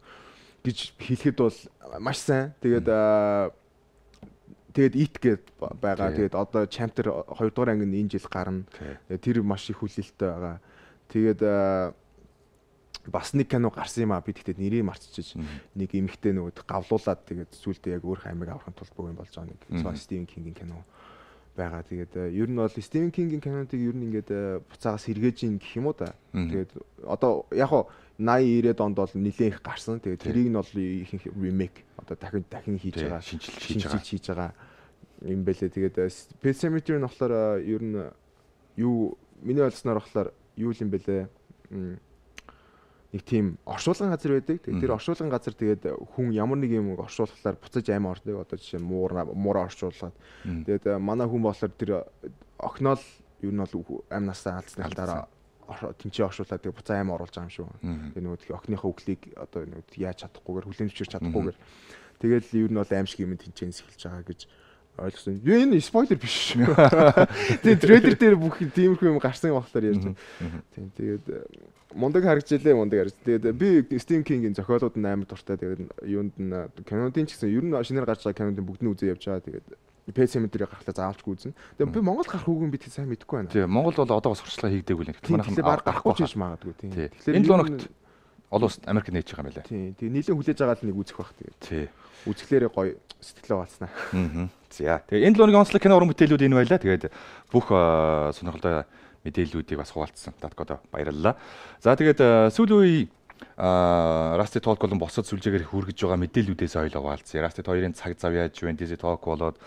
гэж хэлэхэд бол маш сайн. Тэгээд Eat гээд байгаа. Тэгээд одоо Chapter 2 дугаар анги энэ жил гарна. Тэр маш их хүлээлттэй байгаа. Тэгээд бас нэг кино гарсан юм аа. Би тэгтээ нэрийг марцчихж нэг эмэгтэй нөгөөд гавлуулаад тэгээд зүйлдээ яг өөр хаймыг авахын тулд богино болж байгаа нэг Стивен Кингийн кино байгаа. Тэгээд ер нь бол Стивен Кингийн кинонуудыг ер нь ингээд буцаагаас сэргээж ийн гэх юм уу да. Тэгээд одоо яг 80-90-ад онд бол нэлээд их гарсан. Тэгээд тэрийг нь бол ихэнх ремейк одоо дахин хийж байгаа, шинжилж хийж байгаа юм бэлээ. Тэгээд Pet Sematary нь болохоор ер нь юу миний ойлсноор болохоор юу юм бэлээ. Нэг тийм оршуулган газар байдаг. Тэгээд тэр оршуулган газар тэгээд хүн ямар нэг юм оршуулхлаар буцаж аймаа ордог. Одоо жишээ муура оршуулгаад. Тэгээд манай хүн болохоор тэр охиноо л ер нь бол амнасаа алдсны дараа тэнцээ оршуулаад тэгээ буцаа аймаа оруулж байгаа юм шүү. Тэгээ нөгөө охиныхоо үглийг одоо нөгөө яаж чадахгүйгээр хүлээн зөвшөөрч чадахгүйгээр тэгэл ер нь бол аимшиг юм тэнцээс эхэлж байгаа гэж ойлгосон. Энэ спойлер биш шүү. Тэгээ трейлер дээр бүх тиймэрхүү юм гарсан болохоор ярьж байна. Тийм тэгээд мундаг харагдчихлээ. Тэгээд би Стивен Кингийн зохиолууд нь амар дуртай. Тэгээд юунд нь кинодын ч гэсэн ер нь шинээр гарч байгаа кинодын бүгдний үзээ явж байгаа. Тэгээд Pet Sematary гарахлаа заавалчгүй үзнэ. Тэгээд би Монгол гарах үгүй би тэг сайн мэдэхгүй байна. Тийм Монгол бол одоо бас сурчлага хийгдээгүй л нэг. Манайхан баг гарахгүй ч хийж магадгүй тийм. Тэгэхээр энэ 7 хоногт олон улсад Америк нээж байгаа юм байна. Тийм. Тэгээ нийлэн хүлээж байгаа л нэг үзэх бах тэгээд. Тийм. Үзэхлээрээ гоё сэтгэлээ баалснаа. За. Тэгээ энэ 7 хоногийн онцлог кино уран бүтээлүүд энэ байлаа. Тэгээд бүх сонирхолтой мэдээллүүдийг бас хуваалцсан. Таткодо баярлалаа. За тэгээд сүүлийн үе Rusty Talk болон босод сүлжээгээр хүргэж байгаа мэдээллүүдээс ойлоо хуваалцъя. Rusty 2-ын цаг зав яаж Fantasy Talk болоод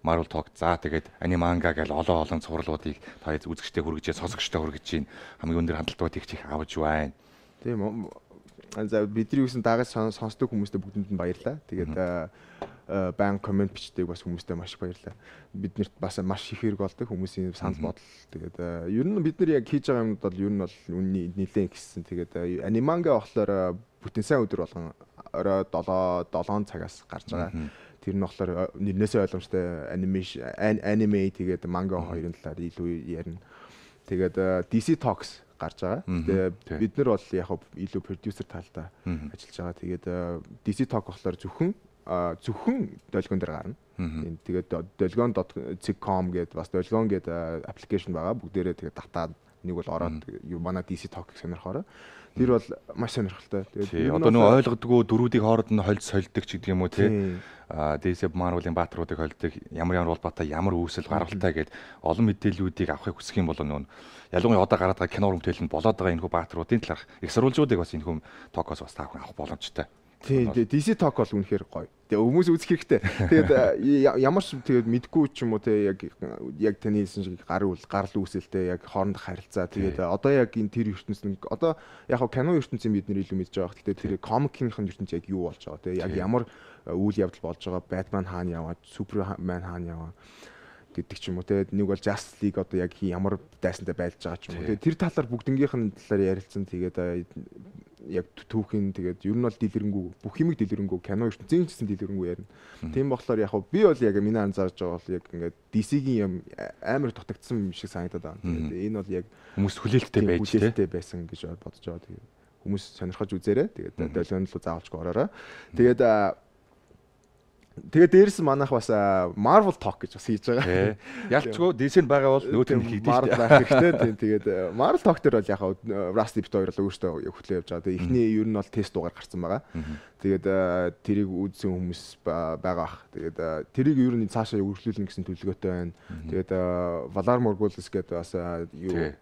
Marvel Talk за тэгээд аниманга гэл олон цувралуудыг та үзэгчтэй хүргэж, сонсогчтой хүргэж чинь хамгийн өндөр хандлтууд их чих авч байна. Тийм. За бидний үсэн дагаж сонсдог хүмүүстээ бүгдэнд нь баярлалаа. Тэгээд баян комент бичдэг бас хүмүүстээ маш их баярлалаа. Биднэрт бас маш их хэрэг болдог хүмүүсийн санал бодол. Тэгээд ер нь бид нар яг хийж байгаа юмуд бол ер нь бол үнний нэлээд ихсэн. Тэгээд аниманга болохоор бүтэн сайн өдөр болгон орой 7 цагаас гарч байгаа. Тэр нь болохоор нэрнээсээ ойлгомжтой аниме тэгээд манга хоёрын талаар илүү ярина. Тэгээд DC Talks гарч байгаа. Тэгээд бид нар бол яг илүү продюсер талдаа ажиллаж байгаа. Тэгээд DC Talk болохоор зөвхөн долгион дээр гарна. Тэгээд dolgon.com гэдэг бас dolgon гэдэг аппликейшн байгаа. Бүгдээрээ тэгээд нэг бол ороод манай DC Talk сонирхоорой. Тэр бол маш сонирхолтой. Тэгээд одоо нөгөө ойлгодгоо дөрүүдийн хооронд нь хольж солидог ч гэдэг юм уу тий. DC Marvel-ийн баатруудыг холдог ямар улбаатай ямар үүсэл гаргалтай гэд олон мэдээллүүдийг авахыг хүсэх юм бол нөгөө ялангуяа одоо гараад байгаа кино уран бүтээл нь болоод байгаа энэ хүү баатруудын талаарх их сурвалжуудыг бас энэ хүм Talk-оос бас таах авах боломжтой. Тийм DC Talk бол үнэхээр гоё. Тэгээ хүмүүс үзэх хэрэгтэй. Тэгээд ямар ч тэгээд мэдгүй ч юм уу те яг таны хэлсэн шиг гарал үүсэлтэй яг хоорондох харилцаа. Тэгээд одоо яг энэ тэр ертөнцийн одоо яг кино ертөнцийн бид нэр илүү мэдж байгаа. Гэхдээ тэр комикийнхэн ертөнц яг юу болж байгаа те яг ямар үйл явдал болж байгаа. Batman хаана яваа, Superman хаана яваа гэдэг ч юм уу те нэг бол Justice League одоо яг ямар дайсантай байлж байгаа ч юм уу. Тэгээд тэр талаар бүгднгийнх нь талаар ярилцсан. Тэгээд яг түүхийн тэгээд ер нь бол дэлгэрэнгүй бүх юмыг дэлгэрэнгүй кино ертөнцийн гэсэн дэлгэрэнгүй ярина. Тийм болохоор яг би бол яг миний анзаарж байгаа бол яг ингээд DC-гийн юм амар дутагдсан юм шиг санагдаад байна. Тэгээд энэ бол яг хүмүүс хүлээлттэй байсан гэж бодож байгаа. Тэгээд хүмүүс сонирхож үзээрэй. Тэгээд долоон руу заавалчгүй ороорой. Тэгээд дээрс манайх бас Marvel Talk гэж бас хийж байгаа. Ялчгүй DC-нд байгаа бол нөөтөр нь хийдэг шүү дээ. Тэгээд Marvel Talk дээр бол яг Rusty бит хоёр л өөртөө хөтлөө явж байгаа. Тэгээд эхний ер нь бол тест дугаар гарсан байгаа. Тэгээд тэрийг үзсэн хүмүүс байгаа бах. Тэгээд тэрийг ер нь цаашаа өргөжлүүлнэ гэсэн төлөвлөгөөтэй байна. Тэгээд Valar Morghulis гэдэг бас юу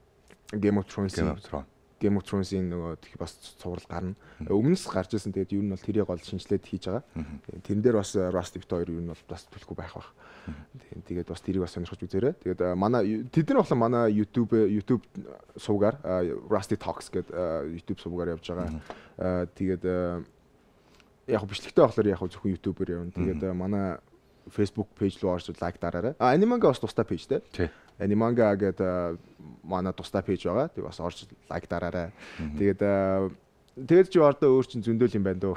Game of Thrones-ийн нөгөө бас цуврал гарна. Өмнөөс гарч ирсэн. Тэгээд ер нь бол тэрийг гол шинжилээд хийж байгаа. Тэрэн дээр бас Rusty бит хоёр ер нь бол бас төлөхгүй байх бах. Тэгээд бас тэрийг бас сонирхож үзээрэй. Тэгээд манай тэд нар болохоор манай YouTube сувгаар Rusty Talks гэдэг YouTube сувгаар явж байгаа. Тэгээд яг бичлэгтэй болохоор яг зөвхөн YouTube-ээр явна. Тэгээд манай Facebook page руу орж лайк дараарай. Animanga бас тустай пэйж дээ. Animanga гэдэг манай тустай пэйж байгаа. Тэг бас орж лайк дараарай. Тэгээд чи ордоо өөр чин зөндөөл юм байна дөө.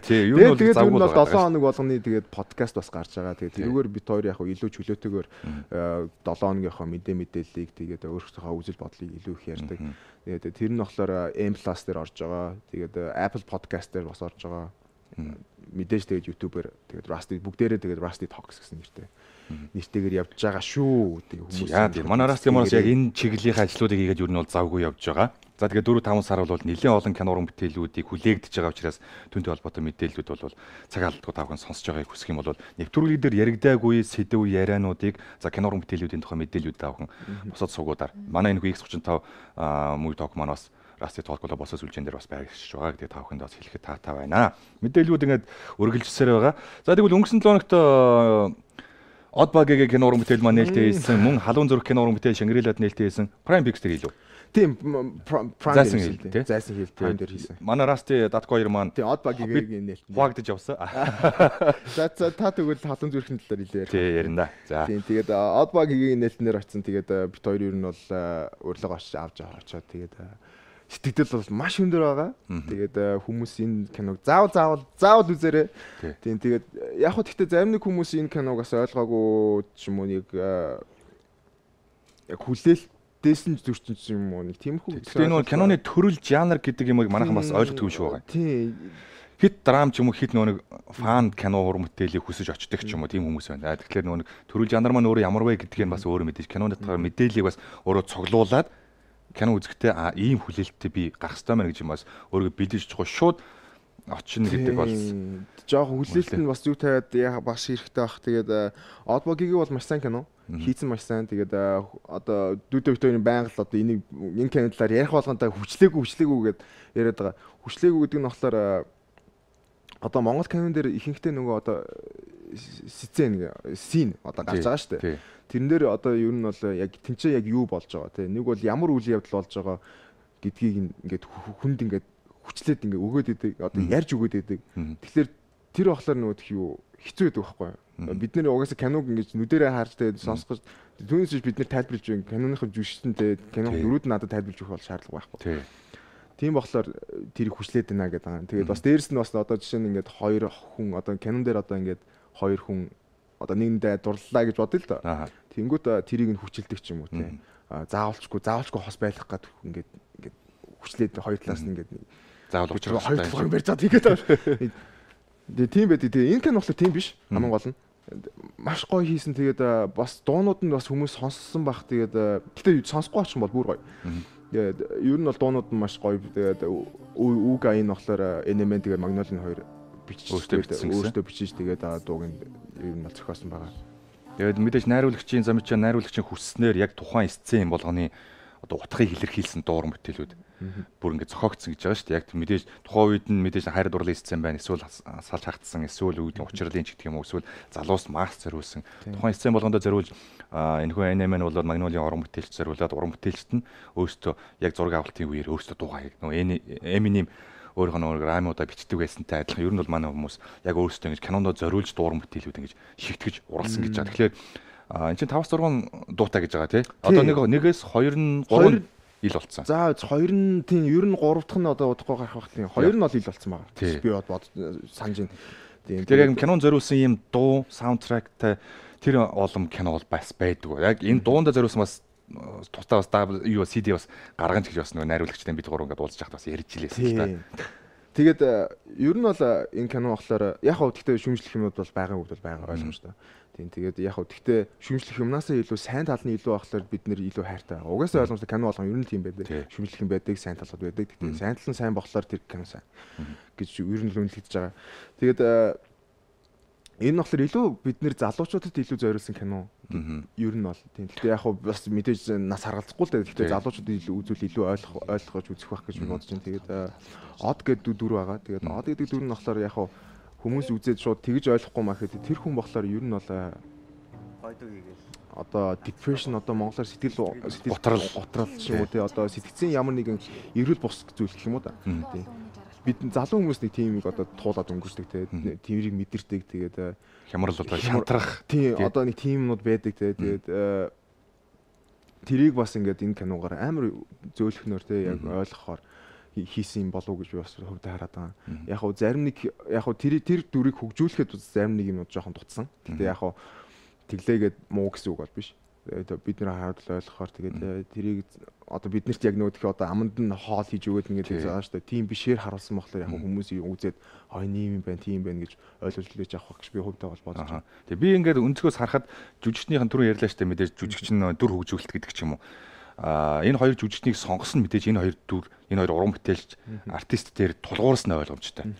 Тий, юу нь бол завгүй бол 7 хоног болгоны тэгээд подкаст бас гарч байгаа. Тэгээд тэрүүгээр бит хоёр яг илүү чөлөөтэйгээр 7 хоногийнхоо мэдээллийг тэгээд өөрсдийнхөө үзэл бодлыг илүү их ярьдаг. Тэгээд тэр нь болохоор M+ дээр орж байгаа. Тэгээд Apple Podcast дээр бас орж байгаа. Мэдээж тэгээд YouTube-ээр тэгээд Rusty бүгдээрээ тэгээд Rusty Talks гэсэн нэртэйгээр явж байгаа шүү. Тэгээд хүмүүс яа тийм манай Rusty Monos яг энэ чиглэлийн ажлуудыг хийгээд юу нь бол завгүй явж байгаа. За тэгээд 4-5 сар бол нэлээд олон кино уран бүтээлүүдийг хүлээгдэж байгаа учраас түүнтэй холбоотой мэдээллүүд бол цаг алдалгүй тавхан сонсож байгааг хүсэх юм бол нэвтрүүлэг дээр яригдаагүй сэдв яриануудыг за кино уран бүтээлүүдийн тухай мэдээллүүд тавхан босоод суугуудаар манай энэ X35 Movie Talk манаас Rusty Talk болоо босоо сүлжээн дээр бас байгуулж байгаа. Тэгээд тавханд бас хэлэхэд таатай байна. Мэдээллүүд ингээд үргэлжилсээр байгаа. За тэгвэл өнгөрсөн 7 хоногт Oddbug-гийн кино уран бүтээл маань нээлттэй хийсэн, мөн халуун зүрх кино уран бүтээл Shangri-Lад нээлттэй хийсэн Prime Pictures дээр илүү. Тийм Prime дээр зайсан хэл Prime дээр хийсэн. Манай Rusty Datko 2 маань тийм Oddbug-гийн нээлттэй хуваагдаж явсан. За та тэгвэл халуун зүрхний талаар илүү ярих. Тийм ярина. За. Тийм тэгээд Oddbug-гийн нээлтнээр очсон. Тэгээд бит хоёр ер нь бол урилга авч очоод тэгээд сэтгэл бол маш өндөр байгаа. Тэгээд хүмүүс энэ киног заавал үзээрэй. Тийм тэгээд яг хөө гэхдээ зарим нэг хүмүүс энэ киног бас ойлгоогүй ч юм уу нэг яг хүлээлттэйсэн зөрчин ч юм уу нэг тиймэрхүү. Тэгээд нөгөө киноны төрөл жанр гэдэг юмыг манайхан бас ойлгохгүй шүү байгаа. Тийм. Хит драм ч юм уу хит нөгөө фан кино уран бүтээлийг хүсэж очдог ч юм уу тийм хүмүүс байна. Тэгэхээр нөгөө төрөл жанр маань өөрөө ямар вэ гэдгийг бас өөрөө мэдээж киноны талаар мэдээллийг бас өөрөө цуглуулад кино үзэхдээ ийм хүлээлттэй би гарах хэрэгтэй мэн гэж юм бас өөрийгөө бэлдэж чухал шууд очно гэдэг бол жоох хүлээлт нь бас зүг тавиад яа бас хэрэгтэй бах. Тэгээд Oddbug-ийг бол маш сайн кино хийсэн маш сайн. Тэгээд одоо дүүдэ битүүрийн байнга л одоо энэ кино талаар ярих болгонтой хүчлээгүй гэд яриад байгаа. Хүчлээгүй гэдэг нь болохоор одоо Монгол кинон дээр ихэнхдээ нөгөө одоо сцен одоо гарч байгаа шүү дээ. Тэрэн дээр одоо ер нь бол яг тэнцээ яг юу болж байгаа те нэг бол ямар үйл явдал болж байгаа гэдгийг ингээд хүнд ингээд хүчлээд ингээд өгөөд идэг одоо ярьж өгөөд идэг. Тэгэхээр тэр болохоор нөгөө юу хэцүү байдаг байхгүй юу? Бид нэр угаасаа киног ингээд нүдэрээ харж те сонсгож түүнээс бид нэр тайлбарлаж байна. Киноныхын жүжигчтэй киног дөрүүд надад тайлбарлаж өгөх бол шаардлага байхгүй. Тийм болохоор тэрийг хүчлээд байна гэдэг. Тэгээд бас дээрэс нь бас одоо жишээ нь ингээд хоёр хүн одоо кинон дээр одоо ингээд хоёр хүн одоо нэгэндээ дурлалаа гэж бодъё л доо. Тэнгүүт тэрийг нь хүчилдэг ч юм уу те. Заавалчгүй хос байх гэдэг ингээд хүчлээд хоёр талаас нь ингээд заавал хоёр талаар барьж байгаа тэгээд байна. Тийм байдаг. Энэ кино болохоор тийм биш. Хамгийн гол нь маш гоё хийсэн. Тэгээд бас дуунууд нь бас хүмүүс сонссон бах. Тэгээд гэтээ сонсохгүй очих юм бол бүр гоё. Тэгээд ер нь бол дуунууд нь маш гоё. Тэгээд Уга энэ болохоор Element тэгээд Magnolia хоёр өөртөө бичиж тэгээд дууг нь ер нь бол зохиосон байгаа. Тэгээд мэдээж найруулагчийн замчаа найруулагчийн хүсснээр яг тухайн сцен болгоны одоо утгыг илэрхийлсэн дууран бүтээлүүд бүр ингэ зохиогдсон гэж байгаа шүү дээ. Яг мэдээж тухайн үед нь мэдээж хайр дурлалын сцен байна. Эсвэл салж хагдсан, эсвэл үүдийн учрлын ч гэх юм уу, эсвэл залуус маск зориулсан. Тухайн сцен болгондоо зориулж энэхүү анime нь бол Magnolia уран бүтээлч зориулаад уран бүтээлчт нь өөрсдөө яг зураг авалтын үеэр өөрсдөө дуугаа нөгөө Eminem өөрөөх нь рамуудаа бичдэг байсантай адилхан ер нь бол манай хүмүүс яг өөрсдөө ингэж кинондоо зориулж дууран бүтээлүүд ингэж шигтгэж уралсан гэж байгаа. Тэгэхээр энэ чинь 5-6 дуутай гэж байгаа тий. Одоо нэгээс 2 нь 3 ил болцсон. За 2 нь тийм ер нь 3 дахь нь одоо удахгүй гарах байх тийм 2 нь бол ил болцсон байгаа. Би бод санаж байна. Тэр яг кинонд зориулсан ийм дуу, саундтрактай тэр олон кино бол бас байдаг. Яг энэ дуундаа зориулсан бас тусдаа бас CD бас гаргаж гэж бас нөгөө найруулагчтай бид гурав ингээд уулзж байхад бас ярьж илээсэн л та. Тэгээд ер нь бол энэ кино болохоор яг хав гэхдээ шүмжлэх юмуд бол байгаа үг бол байгаа ойлгомжтой. Тийм тэгээд яг хав гэхдээ шүмжлэх юмнаас илүү сайн тал нь илүү байхлаар бид нэр илүү хайртай. Угаасаа ойлгомжтой кино болгон ер нь тийм байдаг. Шүмжлэх юм байдаг, сайн талууд байдаг. Тэгээд сайн тал нь сайн болохоор тэр кино сайн гэж ер нь л үнэлж байгаа. Тэгээд энэ болохоор илүү бид нэр залуучуудад илүү зориулсан кино. Ер нь бол тийм. Гэхдээ яг хав бас мэдээж нас харгалзахгүй л дээ. Гэхдээ залуучуудад илүү үзүүл илүү ойлгож үзэх байх гэж би бодож байна. Тэгээд Од гэдэг дүр байгаа. Тэгээд Од гэдэг дүр нь болохоор яг хав хүмүүс үзээд шууд тэгж ойлгохгүй маа гэхэд тэр хүн болохоор ер нь бол гойдог хийгээл одоо depression одоо монголоор сэтгэл готрал шүү дээ. Одоо сэтгцийн ямар нэгэн эрүүл бус зүйл гэх юм уу да. Тийм. Бид залуу хүмүүс нэг тийм нэг одоо туулаад өнгөрчдөг те тэрийг мэдэрдэг тэгээд хямрал одоо шантрах тийм одоо нэг тиймнүүд байдаг те тэгээд тэрийг бас ингээд энэ киногоор амар зөөлхнөр те яг ойлгохоор хийсэн юм болов уу гэж би бас хөвдө хараад байгаа. Яг хөө зарим нэг яг хөө тэр дүрийг хөгжүүлэхэд зарим нэг юм жоохон дутсан. Гэтэ яг хөө тэглээгээд муу гэсэн үг бол биш. Бид нэр хараад ойлгохоор тэгээд тэрийг одоо биднэрт яг нөгөө тэх одоо аманд нь хоол хийж өгөөд ингээд байгаа шүү дээ. Тийм бишээр харуулсан болохоор яг хүмүүс үзээд ийм юм байна, тийм байна гэж ойлгож лээж авах гэж би хөвдөө бол бодож байна. Тэгээ би ингээд өнцгөөс харахад жүжигчнийхэн түрүү ярьлаа шүү дээ мэдээж жүжигч нь дүр хөгжүүлэлт гэдэг ч юм уу. Энэ хоёр жүжигчнийг сонгосон мэдээж энэ хоёр дүр, энэ хоёр уран бүтээлч артист дээр тулгуурсан ойлгомжтой.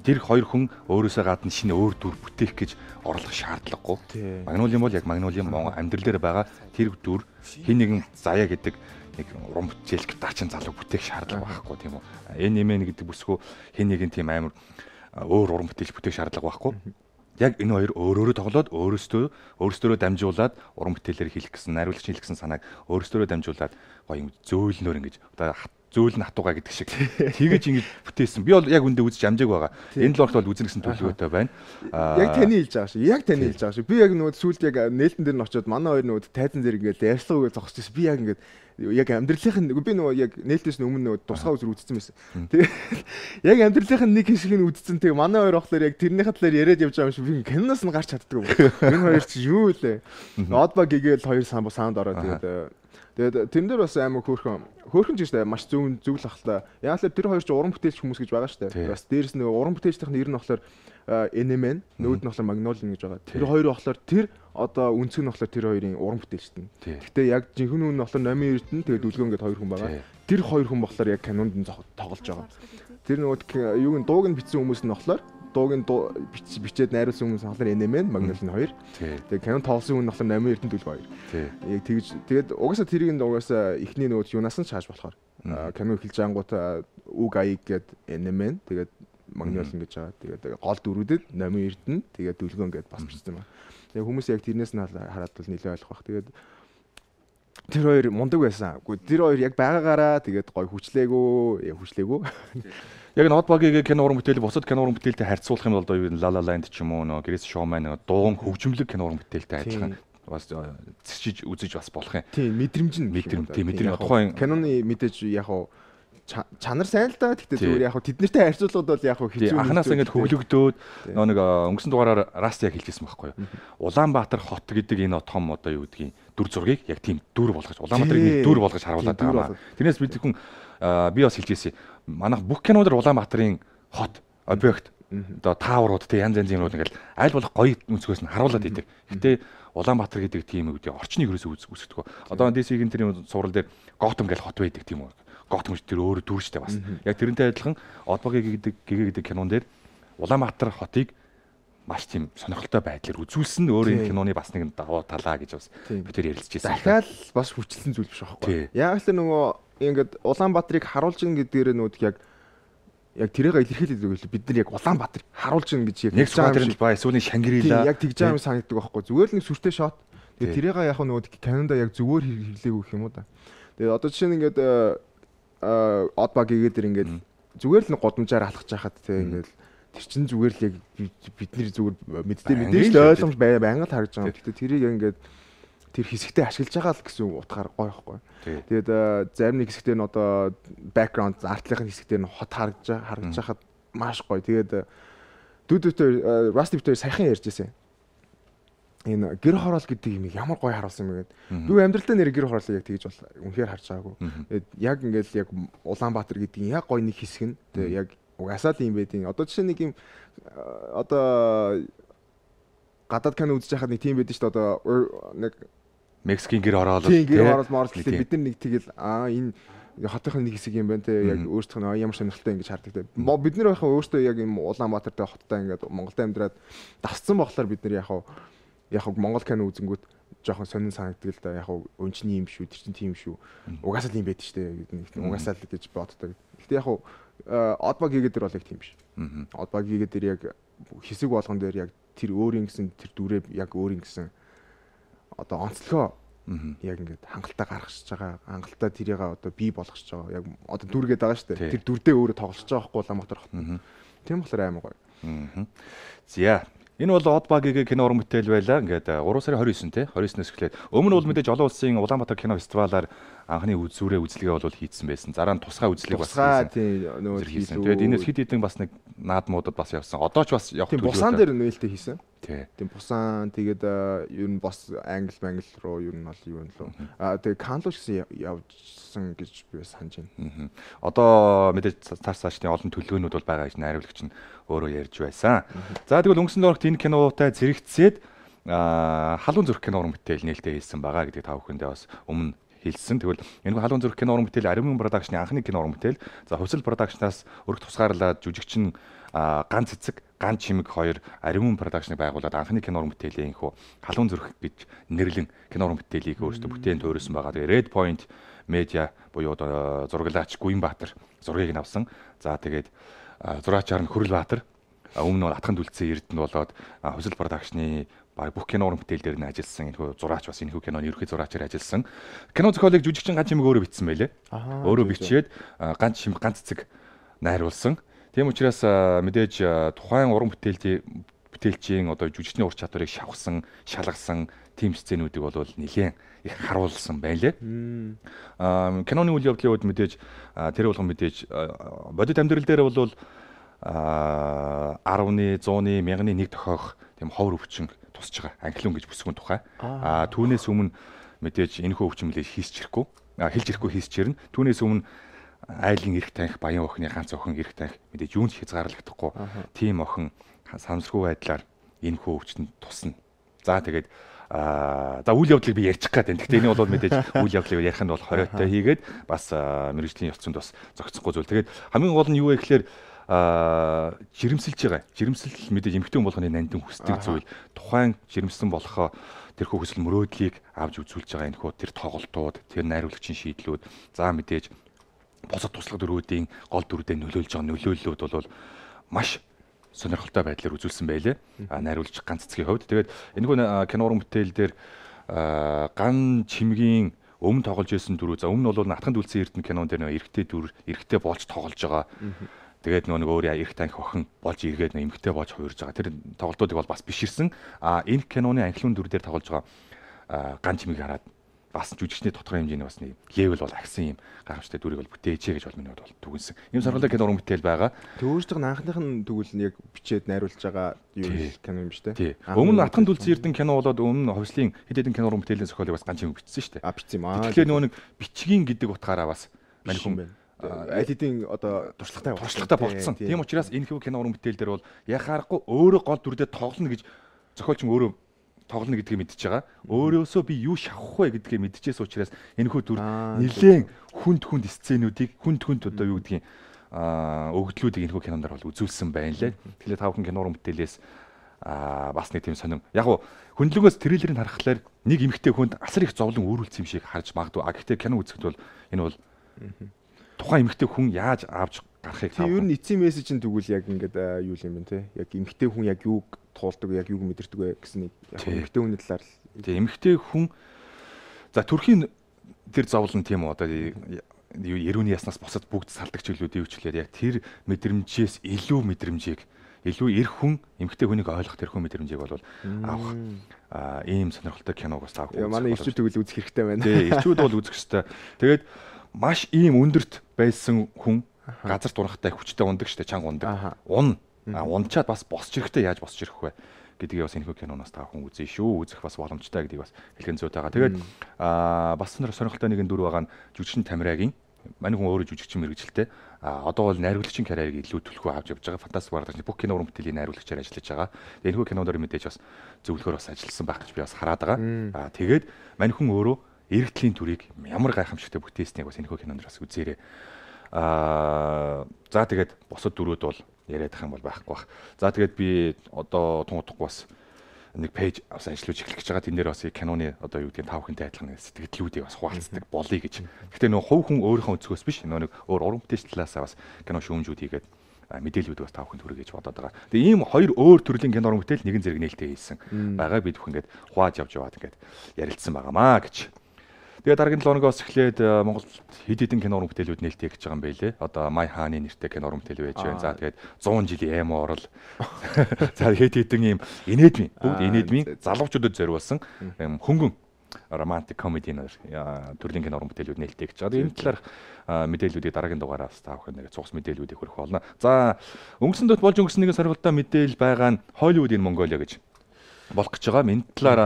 Тэр хоёр хүн өөрөөсөө гадна шинэ өөр дүр бүтээх гэж орлох шаардлагагүй. Magnolia бол яг Magnolia Монгол амьдрал дээр байгаа тэр дүр хин нэгэн заяа гэдэг нэг уран бүтээлч дачин залуу бүтээх шаардлага байхгүй тийм үү. Element гэдэг бүсгүй хин нэгэн тийм амар өөр уран бүтээлч бүтээх шаардлага байхгүй. Яг энэ хоёр өөрөөрөө тоглоод өөрсдөө дамжуулаад уран бүтээлээр хийх гэсэн найруулагчийн хийх гэсэн санааг өөрсдөө дамжуулаад гоё юм зөөлнөр ингэж одоо зөөлн хатууга гэдэг шиг тэгэж ингэж бүтээсэн. Би бол яг үндэ үзэж амжааг байгаа. Энэ л орт бол үзэн гэсэн төлөвлөгөөтэй байна. Яг таны хэлж байгаа шүү. Яг таны хэлж байгаа шүү. Би яг нөгөө сүүлд яг нээлтэн дээр нь очиод манай хоёр нөгөө тайзан дээр ингээд ярьслага үгээ зогсчихсон. Би яг ингээд яг амьдралынх нь би нөгөө яг нээлтээс өмнө нөгөө тусгай үзэр үзсэн байсан. Тэгээ яг амьдралынх нь нэг хэсгийг нь үзсэн. Тэгээ манай хоёр охлоор яг тэрнийхээ талаар яриад явж байгаа юм шиг би киноноос нь гарч чаддаг юм. Энэ хоёр чи юу вэ? Одба гэгээл хоёр саунд ороод тэгээд тэрэн дээр бас амар хөөрхөн ч гэсэн маш зөв л ахлаа. Яг л тэр хоёр ч уран бүтээлч хүмүүс гэж байгаа шүү дээ. Бас дээрэс нэг уран бүтээлчдийн нэр нь болохоор Element, нөгөөд нь болохоор Magnolia гэж байгаа. Тэр хоёр болохоор тэр одоо үнцэг нь болохоор тэр хоёрын уран бүтээлчт нь. Гэхдээ яг жинхэнэ нь болохоор номын эрдэнэ тэгээд дүлгөө ингээд хоёр хүн байгаа. Тэр хоёр хүн болохоор яг канонд нь тоглож байгаа. Тэр нөгөө юуг нь дууг нь бичсэн хүмүүс нь болохоор дууг нь бичээд найруулсан хүмүүс болохоор Element, Magnolia 2. Тэгээд канон тоглосон хүн болохоор номын эрдэнэ дүлгөө 2. Яг тэгж тэгээд угаасаа тэрийг нь угаасаа ихний нөгөө юунаас нь шааж болохоор канон эхэлж ангуудаа үг аяг гээд Element тэгээд Magnolia гэж байгаа. Тэгээд гол дөрүүдэд номын эрдэнэ тэгээд дүлгөө ингээд бас бичсэн байна. Тэгээд хүмүүс яг тэрнээс нь хараад бол нэлээд ойлгох бах. Тэгээд тэр хоёр мундаг байсан. Гэхдээ тэр хоёр яг байгаагаараа тэгээд гой хүчлээгүй. Яг н Одбагийн кино уран бүтээлийг бусад кино уран бүтээлтэй харьцуулах юм бол одоо юу La La Land ч юм уу нөө Grace Showman дуун хөгжмөлөг кино уран бүтээлтэй адилхан бас зэчиж үзэж бас болох юм. Тийм мэдрэмж тухайн киноны мэдээж яг чанар сайн л да. Гэхдээ зүгээр яг тэд нартай харьцуулахад бол яг хэцүү. Анханаас ингээд хөглөгдөөд нэг өнгөрсөн дугаараар Раст яг хэлжсэн байхгүй юу. Улаанбаатар хот гэдэг энэ том одоо юу гэдгийг дүр зургийг яг тийм дүр болгож Улаанбаатарыг дүр болгож харуулдаг байгаа. Тэрнээс бид хүн би бас хэлжсэн. Манайх бүх киноноор Улаанбаатарын хот объект одоо тааврууд тэг янз янзын юмнууд ингээл аль болох гоё өнцгөөс нь харуулад идэг. Гэтэ Улаанбаатар гэдэг тийм үгдээ орчныг ерөөсөө үүсгэдэг. Одоо DC-ийн тэрийн сурал дээр Готэм гэж хот байдаг тийм үү. Готэм гэж тэр өөрөө дүр штэ бас. Яг тэрнтэй адилхан Одбагийн гэдэг кинон дээр Улаанбаатар хотыг маш тийм сонирхолтой байдлаар үзүүлсэн нь өөр энэ киноны бас нэг давуу талаа гэж бас бид тэр ярилцчихсан. Дахиад бас хүчлэн зүйл биш байхгүй. Яг л нөгөө ингээд Улаанбаатарыг харуулж ин гэдгээр нүүд яг тэрийг илэрхийлээд өгөл бид нар яг Улаанбаатарыг харуулж ин гэж яг нэг Улаанбаатар ба эсвэл Шангрила яг тэгж байгаа юм санагддаг байхгүй. Зүгээр л нэг сүртэй шот. Тэгээ тэрийг яг нөгөө Канада яг зүгээр хэрлээг өгөх юм уу да. Тэгээ одоо жишээ нь ингээд Одбагийн дээр ингээд зүгээр л нэг годамжаар алхаж байхад те ингээд тэр чинь зүгээр л яг бидний зүгээр мэдээж ойлгомж байнга л харж байгаа. Гэхдээ тэрийг ингээд тэр хэсэгтээ ашиглаж байгаа л гэсэн утгаар гоё байхгүй. Тэгээд зарим нэг хэсэгтээ нь одоо background артлынхын хэсэгтээ нь хот харагдаж хахад маш гоё. Тэгээд дүүдтэй Rusty Butler саяхан ярьжсэн. Энэ гэр хороол гэдэг юм ямар гоё харуулсан юм гээд. Би амьдралдаа нэр гэр хороолыг яг тэгж бол үнэхээр харж байгаагүй. Тэгээд яг ингээд яг Улаанбаатар гэдэг яг гоё нэг хэсэг нь. Тэгээд яг угаасаа л юм байдیں۔ Одоо жишээ нэг юм одоо гадаад кино үзэж байхад нэг тийм байдаг шүү дээ. Одоо нэг Мексикийн гэр хороол бид нар нэг тэгэл энэ хотынхын нэг хэсэг юм байна те яг өөрсдийнх нь ямар сонирхолтой ингэж хардаг те. Бид нар байхаа өөрсдөө яг юм Улаанбаатартай хоттой ингээд Монголд амьдраад давцсан болохоор бид нар яг Монгол кино үзэнгүүт жоохон сонин санагддаг л да. Яг өнчний юм шүү, тэр чинь тийм шүү. Угаасаа л юм байдаг шүү дээ. Угаасаа л гэж боддог. Гэхдээ яг Одбагийн дээр бол яг тийм биш. Одбагийн дээр яг хэсэг болгон дээр яг тэр өөрийн гэсэн тэр дүрээ яг өөрийн гэсэн одоо онцлогоо яг ингээд хангалттай гаргаж байгаа. Хангалттай тэрийг одоо бий болгож байгаа. Яг одоо дүргээд байгаа шүү дээ. Тэр дүрдээ өөрөө тоглож байгаа байхгүй Улаанбаатар хот. Тийм болохоор аймаг гоё. За энэ бол Одбагийн кино уран бүтээл байлаа. Ингээд 3 сарын 29 те 29-ноос эхлээд өмнө бол мэдээж олон улсын Улаанбаатар кино фестивалаар анхны үзлэгээ бол хийцсэн байсан. Зараа нь тусгай үзлэг бас хийсэн. Тэгээд энэс хэд хэдэн бас нэг наадмуудад бас явсан. Одоо ч бас явах төлөвлөлт. Бусан дээр нээлттэй хийсэн. Тийм бусан тэгээд ер нь бас англ руу ер нь бол юу юм лөө. Тэгээд Канло гэсэн явжсан гэж би санаж байна. Одоо мэдээж цаашдын олон төлөвлөгөөнүүд бол байгаа гэж найруулагч нь өөрөө ярьж байсан. За тэгвэл өнгөрсөн дөрөвт энэ кинотой зэрэгцээд халуун зүрх кино уран бүтээл нээлттэй хийсэн байгаа гэдэг та бүхэндээ бас өмнө хэлсэн. Тэгвэл энэ халуун зүрх кино уран бүтээл Аримын продакшны анхны кино уран бүтээл. За Хувьсэл продакшнаас өргөх тусгаарлаад жүжигчин ганц цэцэг, ганц чимэг хоёр Аримын продакшныг байгуулад анхны кино уран бүтээлийн хөө халуун зүрх гэж нэрлэн кино уран бүтээлийг өөрсдөө бүтээн төөрсөн байгаа. Тэгээ Red Point Media буюу зураглаач Гүнбаатар зургийг нь авсан. За тэгээд зураачаар нь Хөрөлбаатар өмнө нь Атхан Дүлцэн Эрдэнэ болоод Хувьсэл продакшны бүх кино уран бүтээл дээр нь ажилласан энэ зураач бас энэ киноны ерөнхий зураачаар ажилласан. Кино зохиолыг жүжигчин ганц чимэг өөрөө бичсэн байлээ. Өөрөө бичээд ганц цэцэг найруулсан. Тийм учраас мэдээж тухайн уран бүтээлчийн одоо жүжигчний ур чадварыг шавхсан, шалгасан тийм сценүүдийг бол нэлээд их харуулсан байлээ. Киноны үйл явдлын үед мэдээж тэр болгон мэдээж бодит амьдрал дээр бол 10-ны, 100-ны, 1000-ны нэг тохиох тийм ховор өвчин тусч байгаа. Анхлын гэж бүсгүн тухай. Түүнээс өмнө мэдээж энэхүү өвчмөлийг хэлж ирэхгүй хийсчэрнэ. Түүнээс өмнө айлын эрх таних, баян охины ганц охин эрх таних мэдээж юунд хязгаарлагдахгүй. Тийм охин санамсаргүй байдлаар энэхүү өвчтөнд тусна. За тэгээд за үйл явдлыг би ярьчих гээд байна. Гэхдээ энэ бол мэдээж үйл явдлыг ярих нь бол хориотой хийгээд бас мэргэжлийн явцанд бас зохицохгүй зүйл. Тэгээд хамгийн гол нь юу вэ гэхээр жирэмсэлж байгаа. Жирэмсэл мэдээж эмэгтэй хүн болгоны нандин хүсдэг зүйл. Тухайн жирэмсэн болохоо тэрхүү хүсэл мөрөөдлийг авч үзүүлж байгаа энэхүү тэр тоглолтууд, тэр найруулагчийн шийдлүүд, за мэдээж босод туслах дөрвүүдийн гол дүрдээ нөлөөлж байгаа нөлөөллүүд бол маш сонирхолтой байдлаар үзүүлсэн байлээ. Найруулагч ганц цэцгийн хувьд. Тэгээд энэхүү кино уран бүтээл дээр ган чимгийн өмнө тоглож ирсэн дүрүү. За өмнө бол Атхан Дүлцэн Эрдэнэ кинон дээр эрэгтэй дүр, эрэгтэй болж тоглож байгаа. Тэгээд нөгөө өөр эрх таних охин болж эргээд эмэгтэй болж хуурж байгаа. Тэр тоглолтуудыг бол бас биширсэн. Энэ киноны анхлын дүр дээр тоглож байгаа ган чимийг хараад бас жүжигчний тодорхой хэмжээний бас нэг левел бол агсан юм гайхамшигтай дүрийг бол бүтээжээ гэж бол миний бол түгэнсэн. Ийм сонирхолтой кино уран бүтээл байгаа. Тэг өөрсдийнх нь анхных нь тэгвэл нь яг бичээд найруулж байгаа юу кино юм шүү дээ. Өмнө Атхан Дүлцэн Эрдэнэ кино болоод өмнө Хувьслын хэд хэдэн кино уран бүтээлийн зохиолыг бас ган чимэг бичсэн шүү дээ. Бичсэн юм аа. Тэгэхээр нөгөө нэг бичгийн гэдэг утгаараа бас мань хүн аль хэдийн одоо туршлагатай болцсон. Тийм учраас энэ кино уран бүтээл дээр бол яхаарахгүй өөрөө гол дүрдээ тоглоно гэж зохиолч өөрөө тоглоно гэдгийг мэдчихэж байгаа. Өөрөөсөө би юу шавах вэ гэдгийг мэдчихээс учраас энэхүү дүр нэлээд хүнд сценүүдийг хүнд одоо юу гэдгийг өгдлүүдийг энэхүү кинонд бол үзүүлсэн байна лээ. Тэгэхээр та бүхэн кинорын бүтээлээс бас нэг тийм сонин. Яг уу хөндлөгөөс трейлерыг харахаар нэг эмэгтэй хүнд асар их зовлон өөрүүлсэн юм шиг харж магадгүй. Гэхдээ кино үзэхэд бол энэ бол тухайн эмэгтэй хүн яаж авч гарахыг таах. Ер нь эцсийн мессеж нь тэгвэл яг ингээд юу юм бэ те? Яг эмэгтэй хүн яг юуг туулдаг, яг юуг мэдэрдэг вэ гэсэн нэг яг эмэгтэй хүний талаар. Тийм эмэгтэй хүн за төрхийн тэр зовлон тийм үү одоо ерөөний яснаас босоод бүгд салдаг чиглэлүүдийн хвчлээд яг тэр мэдрэмжээс илүү мэдрэмжийг илүү эрх хүн эмэгтэй хүнийг ойлгох тэр хүн мэдрэмжийг бол авах ийм сонирхолтой киног бас таах. Манай ирчүүд тэгвэл үзэх хэрэгтэй байна. Тий, ирчүүд бол үзэх хэрэгтэй. Тэгээд маш ийм өндөрт байсан хүн газар дурахтай хүчтэй ундаг штэ чанга ундаг. Унчаад бас босч ирэхдээ яаж босч ирэх вэ гэдгийг бас энэхүү киноноос таах хүн үзье шүү. Үзэх бас боломжтой гэдгийг бас хэлхэн зүйтэй байгаа. Тэгээд бас сонирхолтой нэгэн дүр байгаа нь жүжигчин Тамирагийн манай хүн өөрөө жүжигчин мэрэгжилтэй. Одоо бол найруулагчийн карьерийг илүү төлхөө авч явж байгаа. Фантастик багш бүх кино уран бүтээлийн найруулагчаар ажиллаж байгаа. Тэгээд энэхүү киноноор мэдээж бас зөвлөхөр бас ажилласан байх гэж би бас хараад байгаа. Тэгээд манай хүн өөрөө эрэгтлийн төрийг ямар гайхамшигтай бүтээснийг бас энэхүү киноноор бас үзээрэй. За тэгээд босод дөрүүд бол яриадах юм бол байхгүй бах. За тэгээд би одоо тунгуудахгүй бас нэг пэйж авсан ажиллаж эхлэх гэж байгаа. Тэн дээр бас киноны одоо юу гэдэг нь 5 хүнтэй адилхан сэтгэлдлүүдийг бас хуваалцдаг болъё гэж. Гэхдээ нөө хувь хүн өөрийнхөө өнцгөөс биш нөө нэг өөр уран бүтээлч талаасаа бас кино шүүмжүүд хийгээд мэдээлэлүүд бас 5 хүнд хүргэж бодоод байгаа. Тэгээ ийм хоёр өөр төрлийн кино уран бүтээл нэгэн зэрэг нээлттэй хийсэн байгаа. Бид бүх ингээд хувааж явж яваад ингээд ярилцсан байгаамаа гэж. Тэгээ дараагийн 7 хоногоос эхлээд Монголд хэд хэдэн кино уран бүтээлүүд нээлттэй гэж байгаа юм байлээ. Одоо Май хааны нэртэй кино уран бүтээл байж байна. За тэгээд 100 жилийн эмо орол. За хэд хэдэн ийм инээдмийн бүгд инээдмийн залуучуудад зориулсан хөнгөн романтик комеди төрлийн кино уран бүтээлүүд нээлттэй гэж байгаа. Энэ талаар мэдээллүүдийг дараагийн дугаараас та бүхэн нэг цугс мэдээллүүдийг хүргэх болно. За өнгөрсөн дөт болж өнгөрсөн нэгэн сарвалтай мэдээлэл байгаа нь Hollywood in Mongolia гэж болох гэж байгаа. Энэ талаар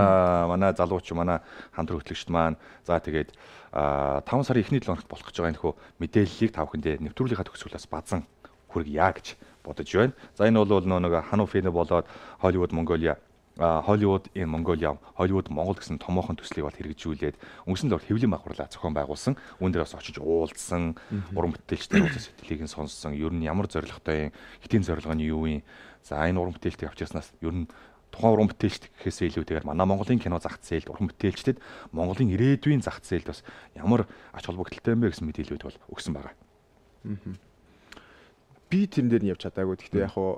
манай залууч манай хамтран хөтлөгчд маань за тэгээд 5 сарын эхний 7 хоногт болох гэж байгаа энэ хөө мэдээллийг та бүхэндээ нэвтрүүлгийнхаа төгсгөлөөс базан хүргье гэж бодож байна. За энэ бол нэг хануу фэн болоод Hollywood Mongolia Hollywood in Mongolia Hollywood Монгол гэсэн томоохон төслийг бол хэрэгжүүлээд өнгөрсөн л хэвлэлийн багварлаа зохион байгуулсан. Үүн дээр бас очиж уулзсан, уран бүтээлчтэй уулзсан сэтгэлийг нь сонссон. Ер нь ямар зорилготой юм, хэтийн зорилго нь юу юм. За энэ уран бүтээлтийг авчирснаас ер нь тухайн уран бүтээлч гэхээсээ илүүтэйгээр манай Монголын кино зах зээлд уран бүтээлчдэд Монголын ирээдүйн зах зээлд бас ямар ач холбогдолтой юм бэ гэсэн мэдээлэлүүд бол өгсөн байгаа. Би тэрэн дээр нь явж чадаагүй. Гэхдээ яг хуу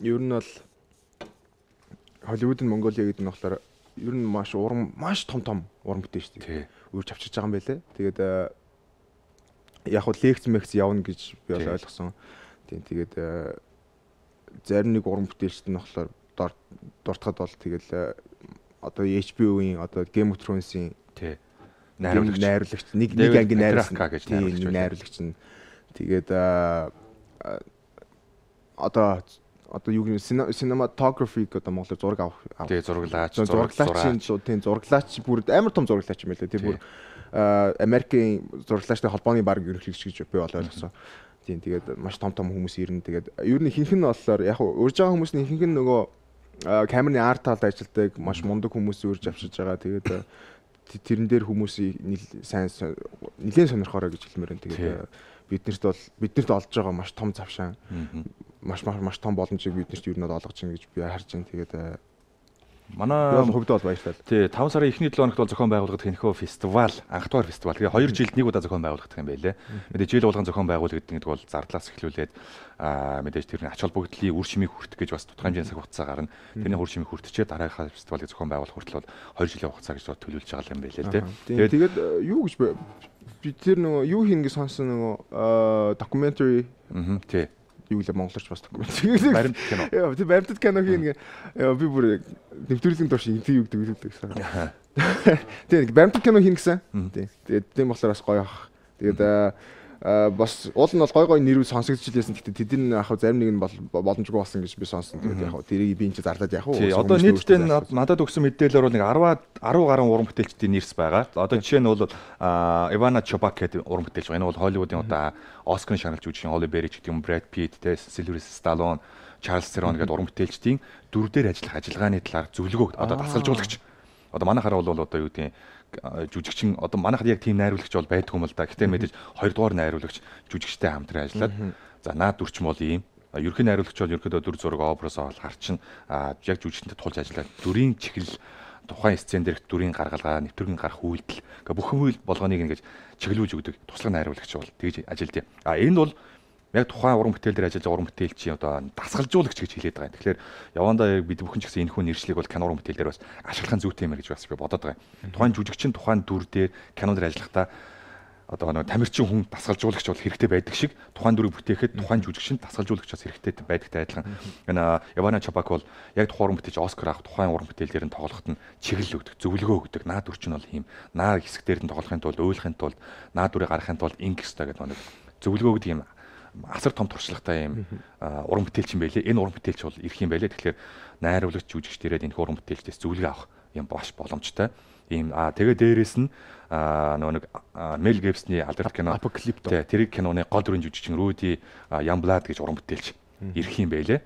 ер нь бол Hollywood in Mongolia гэдэг нь болохоор ер нь маш том уран бүтээлчтэй үрж авчирч байгаа юм байлээ. Тэгээд яг хуу лекц явна гэж би бол ойлгосон. Тэгээд зарим нэг уран бүтээлчд нь болохоор дуртахад бол тэгэл одоо HBO-ийн одоо Game of Thrones-ийн найруулагч нэг ангийн найруулагч нь тэгээд одоо юу гэх юм cinematography гэдэг монголоор зураг авах зураглаач бүр амар том зураглаач юм байлаа. Тэр бүр Америкийн зураглаачтай холбооны баг ерөнхийлөгч гэж би бол ойлгосон. Тийм тэгээд маш том хүмүүс ирнэ. Тэгээд ер нь ихэнх нь болохоор яг урьж байгаа хүмүүс нь ихэнх нь нөгөө камерны арт талд ажилладаг маш мундаг хүмүүс үрж авчиж байгаа. Тэгээд тэрэн дээр хүмүүсийг нэлээд сонирхоорой гэж хэлмээр байна. Тэгээд биднэрт олж байгаа маш том завшаан маш том боломжийг биднэрт юу нь олгож чинь гэж би харж байна. Тэгээд манай хөвдөө бол баярлалаа. Тий, 5 сарын эхний 7 хоногт бол зохион байгуулагдах энэхүү фестивал, анх дугаар фестивал. Тэгээ 2 жилд нэг удаа зохион байгуулагдах юм байлээ. Мэдээж жил болгон зохион байгуулагддаг гэдэг бол зардлаас эхлүүлээд мэдээж тэрний ач холбогдлын үр шимийг хүртэх гэж бас тодорхой хэмжээний цаг хугацаа гарна. Тэрний үр шимийг хүртчихээ дараагийнхаа фестивалыг зохион байгуулах хүртэл бол 2 жилийн хугацаа гэж төлөвлөж байгаа юм байлээ л дээ. Тэгээд юу гэж би тэр нөгөө юу хийнэ гэж сонсон нөгөө documentary тий юу л монголч бас докюментари баримт кино. Яа, тэр баримтат кино хийнэ. Би бүр нэвтрүүлгийн турш интервью гэдэг гэсэн. Тийм баримтат кино хийнэ гэсэн. Тийм. Тэгээд тийм болохоор бас гоё ах. Тэгээд бас уул нь бол гой нэрүү сонсогдчихлээсэн. Гэхдээ тэдний яг зарим нэг нь боломжгүй болсон гэж би сонсон. Тэгээд яг тэрийг би энэ ч зарлаад яг уу. Одоо нийтдээ надад өгсөн мэдээлэлээр бол нэг 10 гаруй уран бүтээлчдийн нэрс байгаа. Одоо жишээ нь бол Ивана Чопак гэдэг уран бүтээлч байна. Энэ бол Холливуудын одоо Оскарын шагналж жүжигчин Холли Берри гэдэг юм, Брэд Питт, Сильвестр Сталлоне, Чарлз Терон гэдэг уран бүтээлчдийн дөрв дээр ажиллах ажиллагааны талаар зөвлөгөө одоо дасгалжуулагч. Одоо манайхаар бол одоо юу гэдэг жүжигчин одоо манайхад яг тийм найруулагч бол байдгүй юм л да. Гэхдээ мэдээж 2 дугаар найруулагч жүжигчтэй хамтран ажиллаад за наад дүрч бол ийм ерөнхий найруулагч бол ерөнхийдөө дүр зураг образоо бол харчин яг жүжигчтэй тулж ажиллаад дүрийн чихэл тухайн сцен дээрх дүрийн гаргалгаа нэвтрүүлгийн гарах үйлдэл бүхэн үйл болгоныг ингэж чиглүүлж өгдөг туслах найруулагч бол тэгж ажилдээ. Энэ бол яг тухайн уран бүтээл дээр ажиллаж уран бүтээлчийн одоо дасгалжуулагч гэж хэлээд байгаа юм. Тэгэхээр явандаа бид бүхэн ч гэсэн энэхүү нэршлиг бол кино уран бүтээл дээр бас ашиглахын зүйтэй юм гэж бас би бодоод байгаа юм. Тухайн жүжигчин тухайн дүр дээр кино дээр ажиллахдаа одоо нэг тамирчин хүн дасгалжуулагч бол хэрэгтэй байдаг шиг тухайн дүрийг бүтээхэд тухайн жүжигчин дасгалжуулагч бас хэрэгтэй байдагтай адилхан. Энэ Ивана Чопак бол яг тухайн уран бүтээлч Оскар авах тухайн уран бүтээл дээр нь тоглоход нь чиглэл өгдөг, зөвлөгөө өгдөг. Наад дүрчин бол ийм. Наа хэсэг дээр нь тоглохын тулд, ойлгохын тулд, наад дүрийг гаргахын тулд ингэх ёстой гэдэг нэг зөвлөгөө өгдөг юм. Асар том туршлагатай юм уран бүтээлч юм байлээ. Энэ уран бүтээлч бол ирэх юм байлээ. Тэгэхээр найруулагч жүжигч дээрээ энэ уран бүтээлчдээс зөвлөгөө авах юм баш боломжтой. Ийм тэгээ дээрээс нь нэг Мел Гибсний алдарт кино Апокалипто тэр киноны гол дүрийн жүжигчин Руди Ямблад гэж уран бүтээлч ирэх юм байлээ.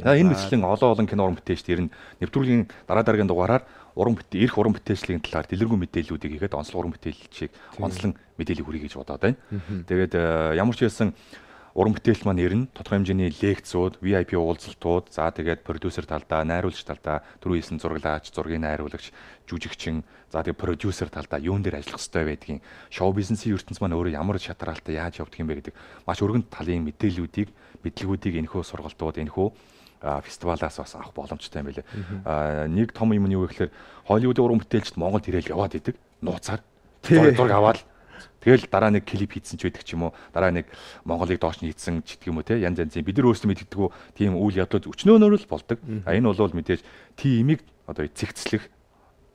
Энэ мэтлэн олон кино уран бүтээлчд ирнэ. Нэвтрүүлгийн дараагийн дугаараар ирэх уран бүтээлчлийн талаар дэлгэрэнгүй мэдээллүүдийг хийгээд онцлог уран бүтээлчийг онцлон мэдээлэл хүргэе гэж бодоод байна. Тэгээд ямар ч байсан уран бүтээлч маань ирнэ. Тодорхой хэмжээний лекцүүд, VIP уулзалтууд, за тэгээд продюсер талдаа, найруулагч талдаа, түрүү хэлсэн зураглаач, зургийн найруулагч, жүжигчин, за тэгээд продюсер талдаа юун дээр ажиллах ёстой байдгийг, шоу бизнесийн ертөнц маань өөрөө ямар шатраалтай яаж явдаг юм бэ гэдэг маш өргөн талын мэдээллүүдийг, мэдлэгүүдийг энэхүү сургалтууд, энэхүү фестивалаас бас авах боломжтой юм байлээ. Нэг том юм нь юу вэ гэхээр Холливуудын уран бүтээлчд Монголд ирээл яваад идэг, нууцаар зураг аваад тэгэл дараа нэг клип хийсэн ч байдаг ч юм уу, дараа нэг Монголыг доош нь хийсэн ч гэдэг юм уу те, янз янзын бид нар өөрсдөө мэддэггүй тийм үйл явдлууд өчнөөнөр л болдог. Энэ бол мэдээж тиймийг одоо цэгцлэх,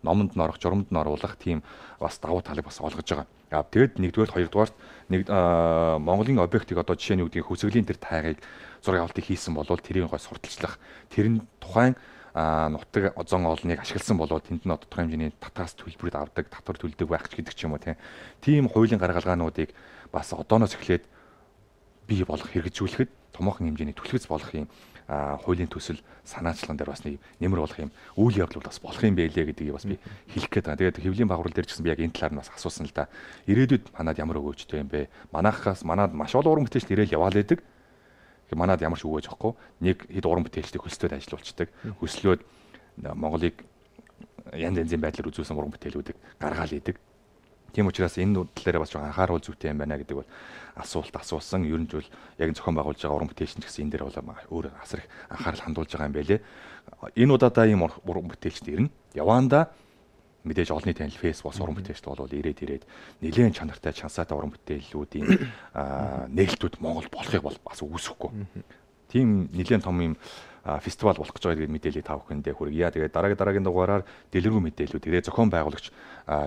номонд нь орох, журамд нь оруулах тийм бас давуу талыг бас олгож байгаа. Тэгээд нэгдүгээр, хоёрдугаарт нэг Монголын объектыг одоо жишээ нь үүдгийг хөсгөлийн тэр тайгыг зураг авалтыг хийсэн болвол тэрийг гой сурталчлах, тэрэн тухайн нутаг озон олныг ашигласан болоод тэнд нь тодорхой хэмжээний татгаас төлбөрөд авдаг, татвар төлдөг байх ч гэдэг ч юм уу тийм хуулийн гаргалгаануудыг бас одооноос эхлээд бий болох, хэрэгжүүлэхэд томоохон хэмжээний түлхэц болох юм хуулийн төсөл санаачлан дээр бас нэмэр болох юм үйл явдал бас болох юм байлээ гэдгийг бас би хэлэх гээд байгаа. Тэгээд хэвлэлийн байгууллага дээр ч гэсэн би яг энэ талаар нь бас асуусан л да. Ирээдүйд манад ямар өгөөжтэй юм бэ? Манайхаас маш олон уран бүтээлч ирээл яваал байдаг. Манад ямар ч өгөөж авахгүй нэг хэд уран бүтээлчдийг хөлсөлтөд ажиллуулцдаг. Хөслөөд Монголыг янз янзын байдлаар үзүүлсэн уран бүтээлүүдийг гаргаал идэг. Тийм учраас энэ тал дээр бас анхааруул зүйтэй юм байна гэдэг бол асуулт асуусан. Ер нь бол яг зохион байгуулж байгаа уран бүтээлч нь гэсэн энэ дээр бол өөр асар их анхаарал хандуулж байгаа юм байлээ. Энэ удаадаа ийм уран бүтээлчд ирнэ. Яваанда мэдээж олонний танил фэйсбુક уран бүтээлчд бол ирээд нэлээд чанартай чансаатай уран бүтээлүүдийн нээлтүүд Монгол болохыг бол бас үүсэхгүй. Тийм нэлээд том юм фестивал болох гэж байгаа мэдээллийг та бүхэндээ хүргье. Тэгээд дараагийн дугаараар дэлгэрэнгүй мэдээллүүд ирээ зохион байгуулагч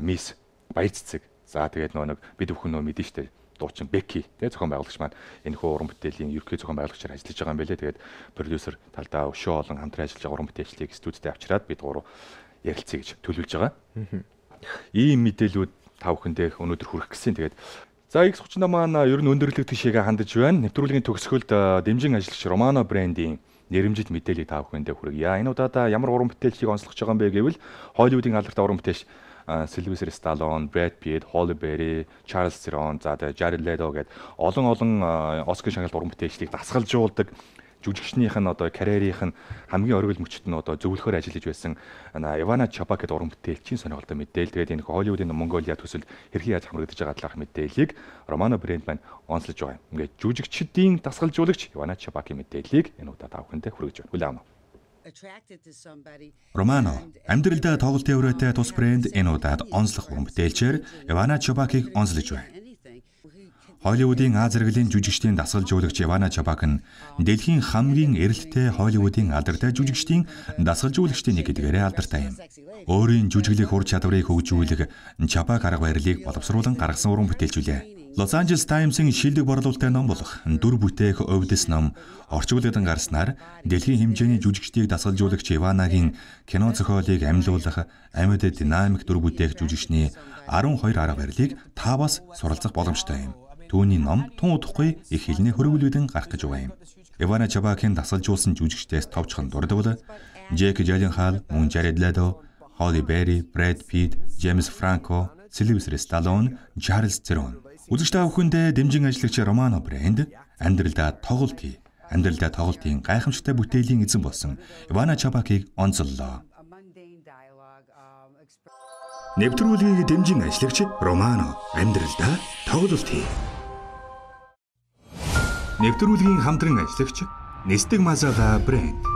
Мисс Баяр цэцэг. За тэгээд нэг бид бүхэн мэдэн штэ дуучин Беки тий зохион байгуулагч маань энэ хөө уран бүтээлийн ерөнхий зохион байгуулагчаар ажиллаж байгаа юм байлээ. Тэгээд продюсер талдаа өшөө олон хамтран ажиллаж байгаа уран бүтээлчлийг студидд авчираад бид гурав ярилцъя гэж төлөвлөж байгаа. Ийм мэдээллүүд та бүхэндээ өнөөдөр хүргэх гэсэн. Тэгээд за X 38 маань ер нь өндөрлөг тишээгээ хандаж байна. Нэвтрүүлгийн төгсгөлд дэмжин ажиллагч Романо брендийн нэрэмжит мэдээллийг та бүхэндээ хүргье. Энэ удаадаа ямар уран бүтээлчийг онцлогч байгаа юм бэ гэвэл Холливуудын алдартай уран бүтээлч Сильвестр Сталлоне, Брэд Питт, Холли Берри, Чарлз Терон, за Жаред Ледо гээд олон Оскар шагналт уран бүтээлчдийг дасгалжуулдаг жүжигчнийх нь одоо карьерийнх нь хамгийн оргил мөчт нь одоо зөвлөхөр ажиллаж байсан Ивана Чопак гэдэг уран бүтээлчийн сонирхолтой мэдээлэл. Тэгээд энэ Холливуудын Монголиа төсөлд хэрхэн яаж хамрагдаж байгаа талаарх мэдээллийг Романо брэнд маань онцлож байгаа. Ингээд жүжигчдийн дасгалжуулагч Ивана Чопакийн мэдээллийг энэ удаа та бүхэндээ хүргэж байна. Хүлээн авна. Романо амьдралдаа тоглолтын өрөөтэй тус брэнд энэ удаад онцлог уран бүтээлчээр Ивана Чопакийг онцлож байна. Холливуудын Аз зэрэглэлийн жүжигчдийн дасгалжуулагч Ивана Чопак нь дэлхийн хамгийн эрэлттэй Холливуудын алдартай жүжигчдийн дасгалжуулагчдын нэг гэдгээрээ алдартай юм. Өөрийн жүжиглэх ур чадварыг хөгжүүлэх Чопак арга барилыг боловсруулан гаргасан уран бүтээлч үлээ. Los Angeles Times-ын шилдэг борлуулалттай ном болох дүр бүтээх өвдөс ном орчуулгад гарснаар дэлхийн хэмжээний жүжигчдийг дасгалжуулагч Иванагийн кино зохиолыг амьлуулах амьд динамик дүр бүтээх жүжигчний 12 арга барилыг та бас суралцах боломжтой юм. Түүний ном тун удахгүй их хэлний хөрвүүлүүдэн гарах гэж байгаа юм. Ивана Чабакийн дасгалжуулсан жүжигчдээс товчхон дурдвал Джек Джилленхол, мөн Jared Leto, Halle Berry, Brad Pitt, James Franco, Sylvester Stallone, Charlize Theron. Үзэгч та бүхэндээ дэмжин ажиллагч Романо Брэнд амьдралдаа тоглолт хий. Амьдралдаа тоглолтын гайхамшигтай бүтээлийн эзэн болсон Ивана Чабакийг онцоллоо. Нэвтрүүлгийг дэмжин ажиллагч Романо амьдралдаа тоглолт хий. Нэвтрүүлгийн хамтран ажиллагч Нестэг Мазала Брэнд.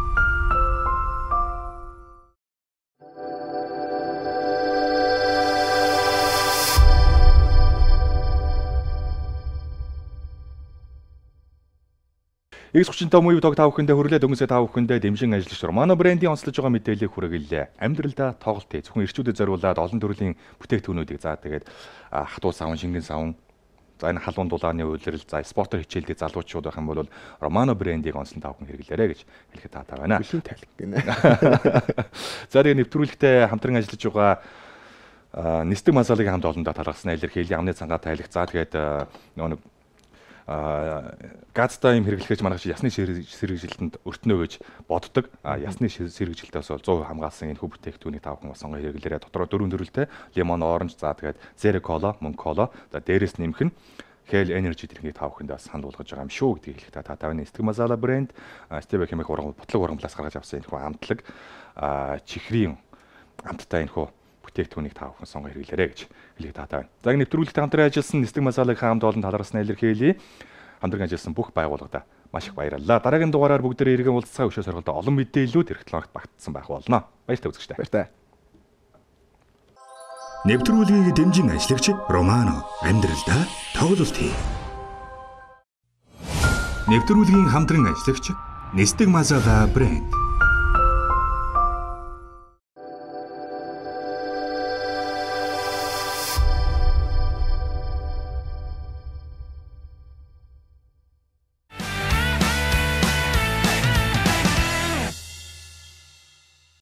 X35 муув дог та бүхэндээ хүрлээ дөнгөсөө та бүхэндээ дэмжин ажиллагч Романо Брэндийн онцлож байгаа мэдээллийг хүргэлээ. Амьдралдаа тоглолт хий. Зөвхөн ирчүүдэд зориулаад олон төрлийн бүтээгдэхүүнүүдийг хатуу савн, шингэн савн, за энэ халуун дулааны үйлрэл, за спортоор хичээлдэг залуучууд байх юм бол Романо Брэндийг онцлон та бүхэн хэрэглээрэй гэж хэлэхэд таатай байна. Бүлийн тайлх гинэ. За тэгээ нэвтрүүлэгтээ хамтран ажиллаж байгаа Нестэг Мазалагийн хамт олондоо талархсан илэрхийллийн амны цангаа тайлх. За тэгээд нэг газтай юм хэрэглэхэж манайх ясны сэргэжилтэнд өртнөө гэж боддог. Ясны сэргэжилтээс бол 100% хамгаалсан энэ хөв бүтээгдэхүүнийг та бүхэн сонгоо хэрэглээрэй. Дотроо 4 төрөлтэй лимон, оранж, за тэгээд zero cola, мөн cola. За дээрээс нэмэх нь Hell Energy дэргийг та бүхэнд бас санал болгож байгаа юм шүү гэдгийг хэлэх та тавны Нестэг Мазала Брэнд Steve хэмээх ботлог урамлаас гаргаж авсан энэ хүү амтлаг чихрийн амттай энэ хүү бүтээгдэхүүнийг та бүхэн сонгоо хэрэглээрэй гэж хэлэх таатай байна. За нэвтрүүлэгт хамтран ажилласан Нестэг Мазалагийн хамт олон талархсан илэрхийлье. Хамтран ажилласан бүх байгууллагад маш их баярлалаа. Дараагийн дугаараар бүгдээрээ иргэн уулзцаа өшөө сорголтоо олон мэдээллүүд эх 7 хоногт багтсан байх болно. Баяртай үзэгчтэй. Баяртай. Нэвтрүүлгийг дэмжин ажиллагч Романо амьдралдаа тоглолт хий. Нэвтрүүлгийн хамтран ажиллагч Нестэг Мазала Брэнд.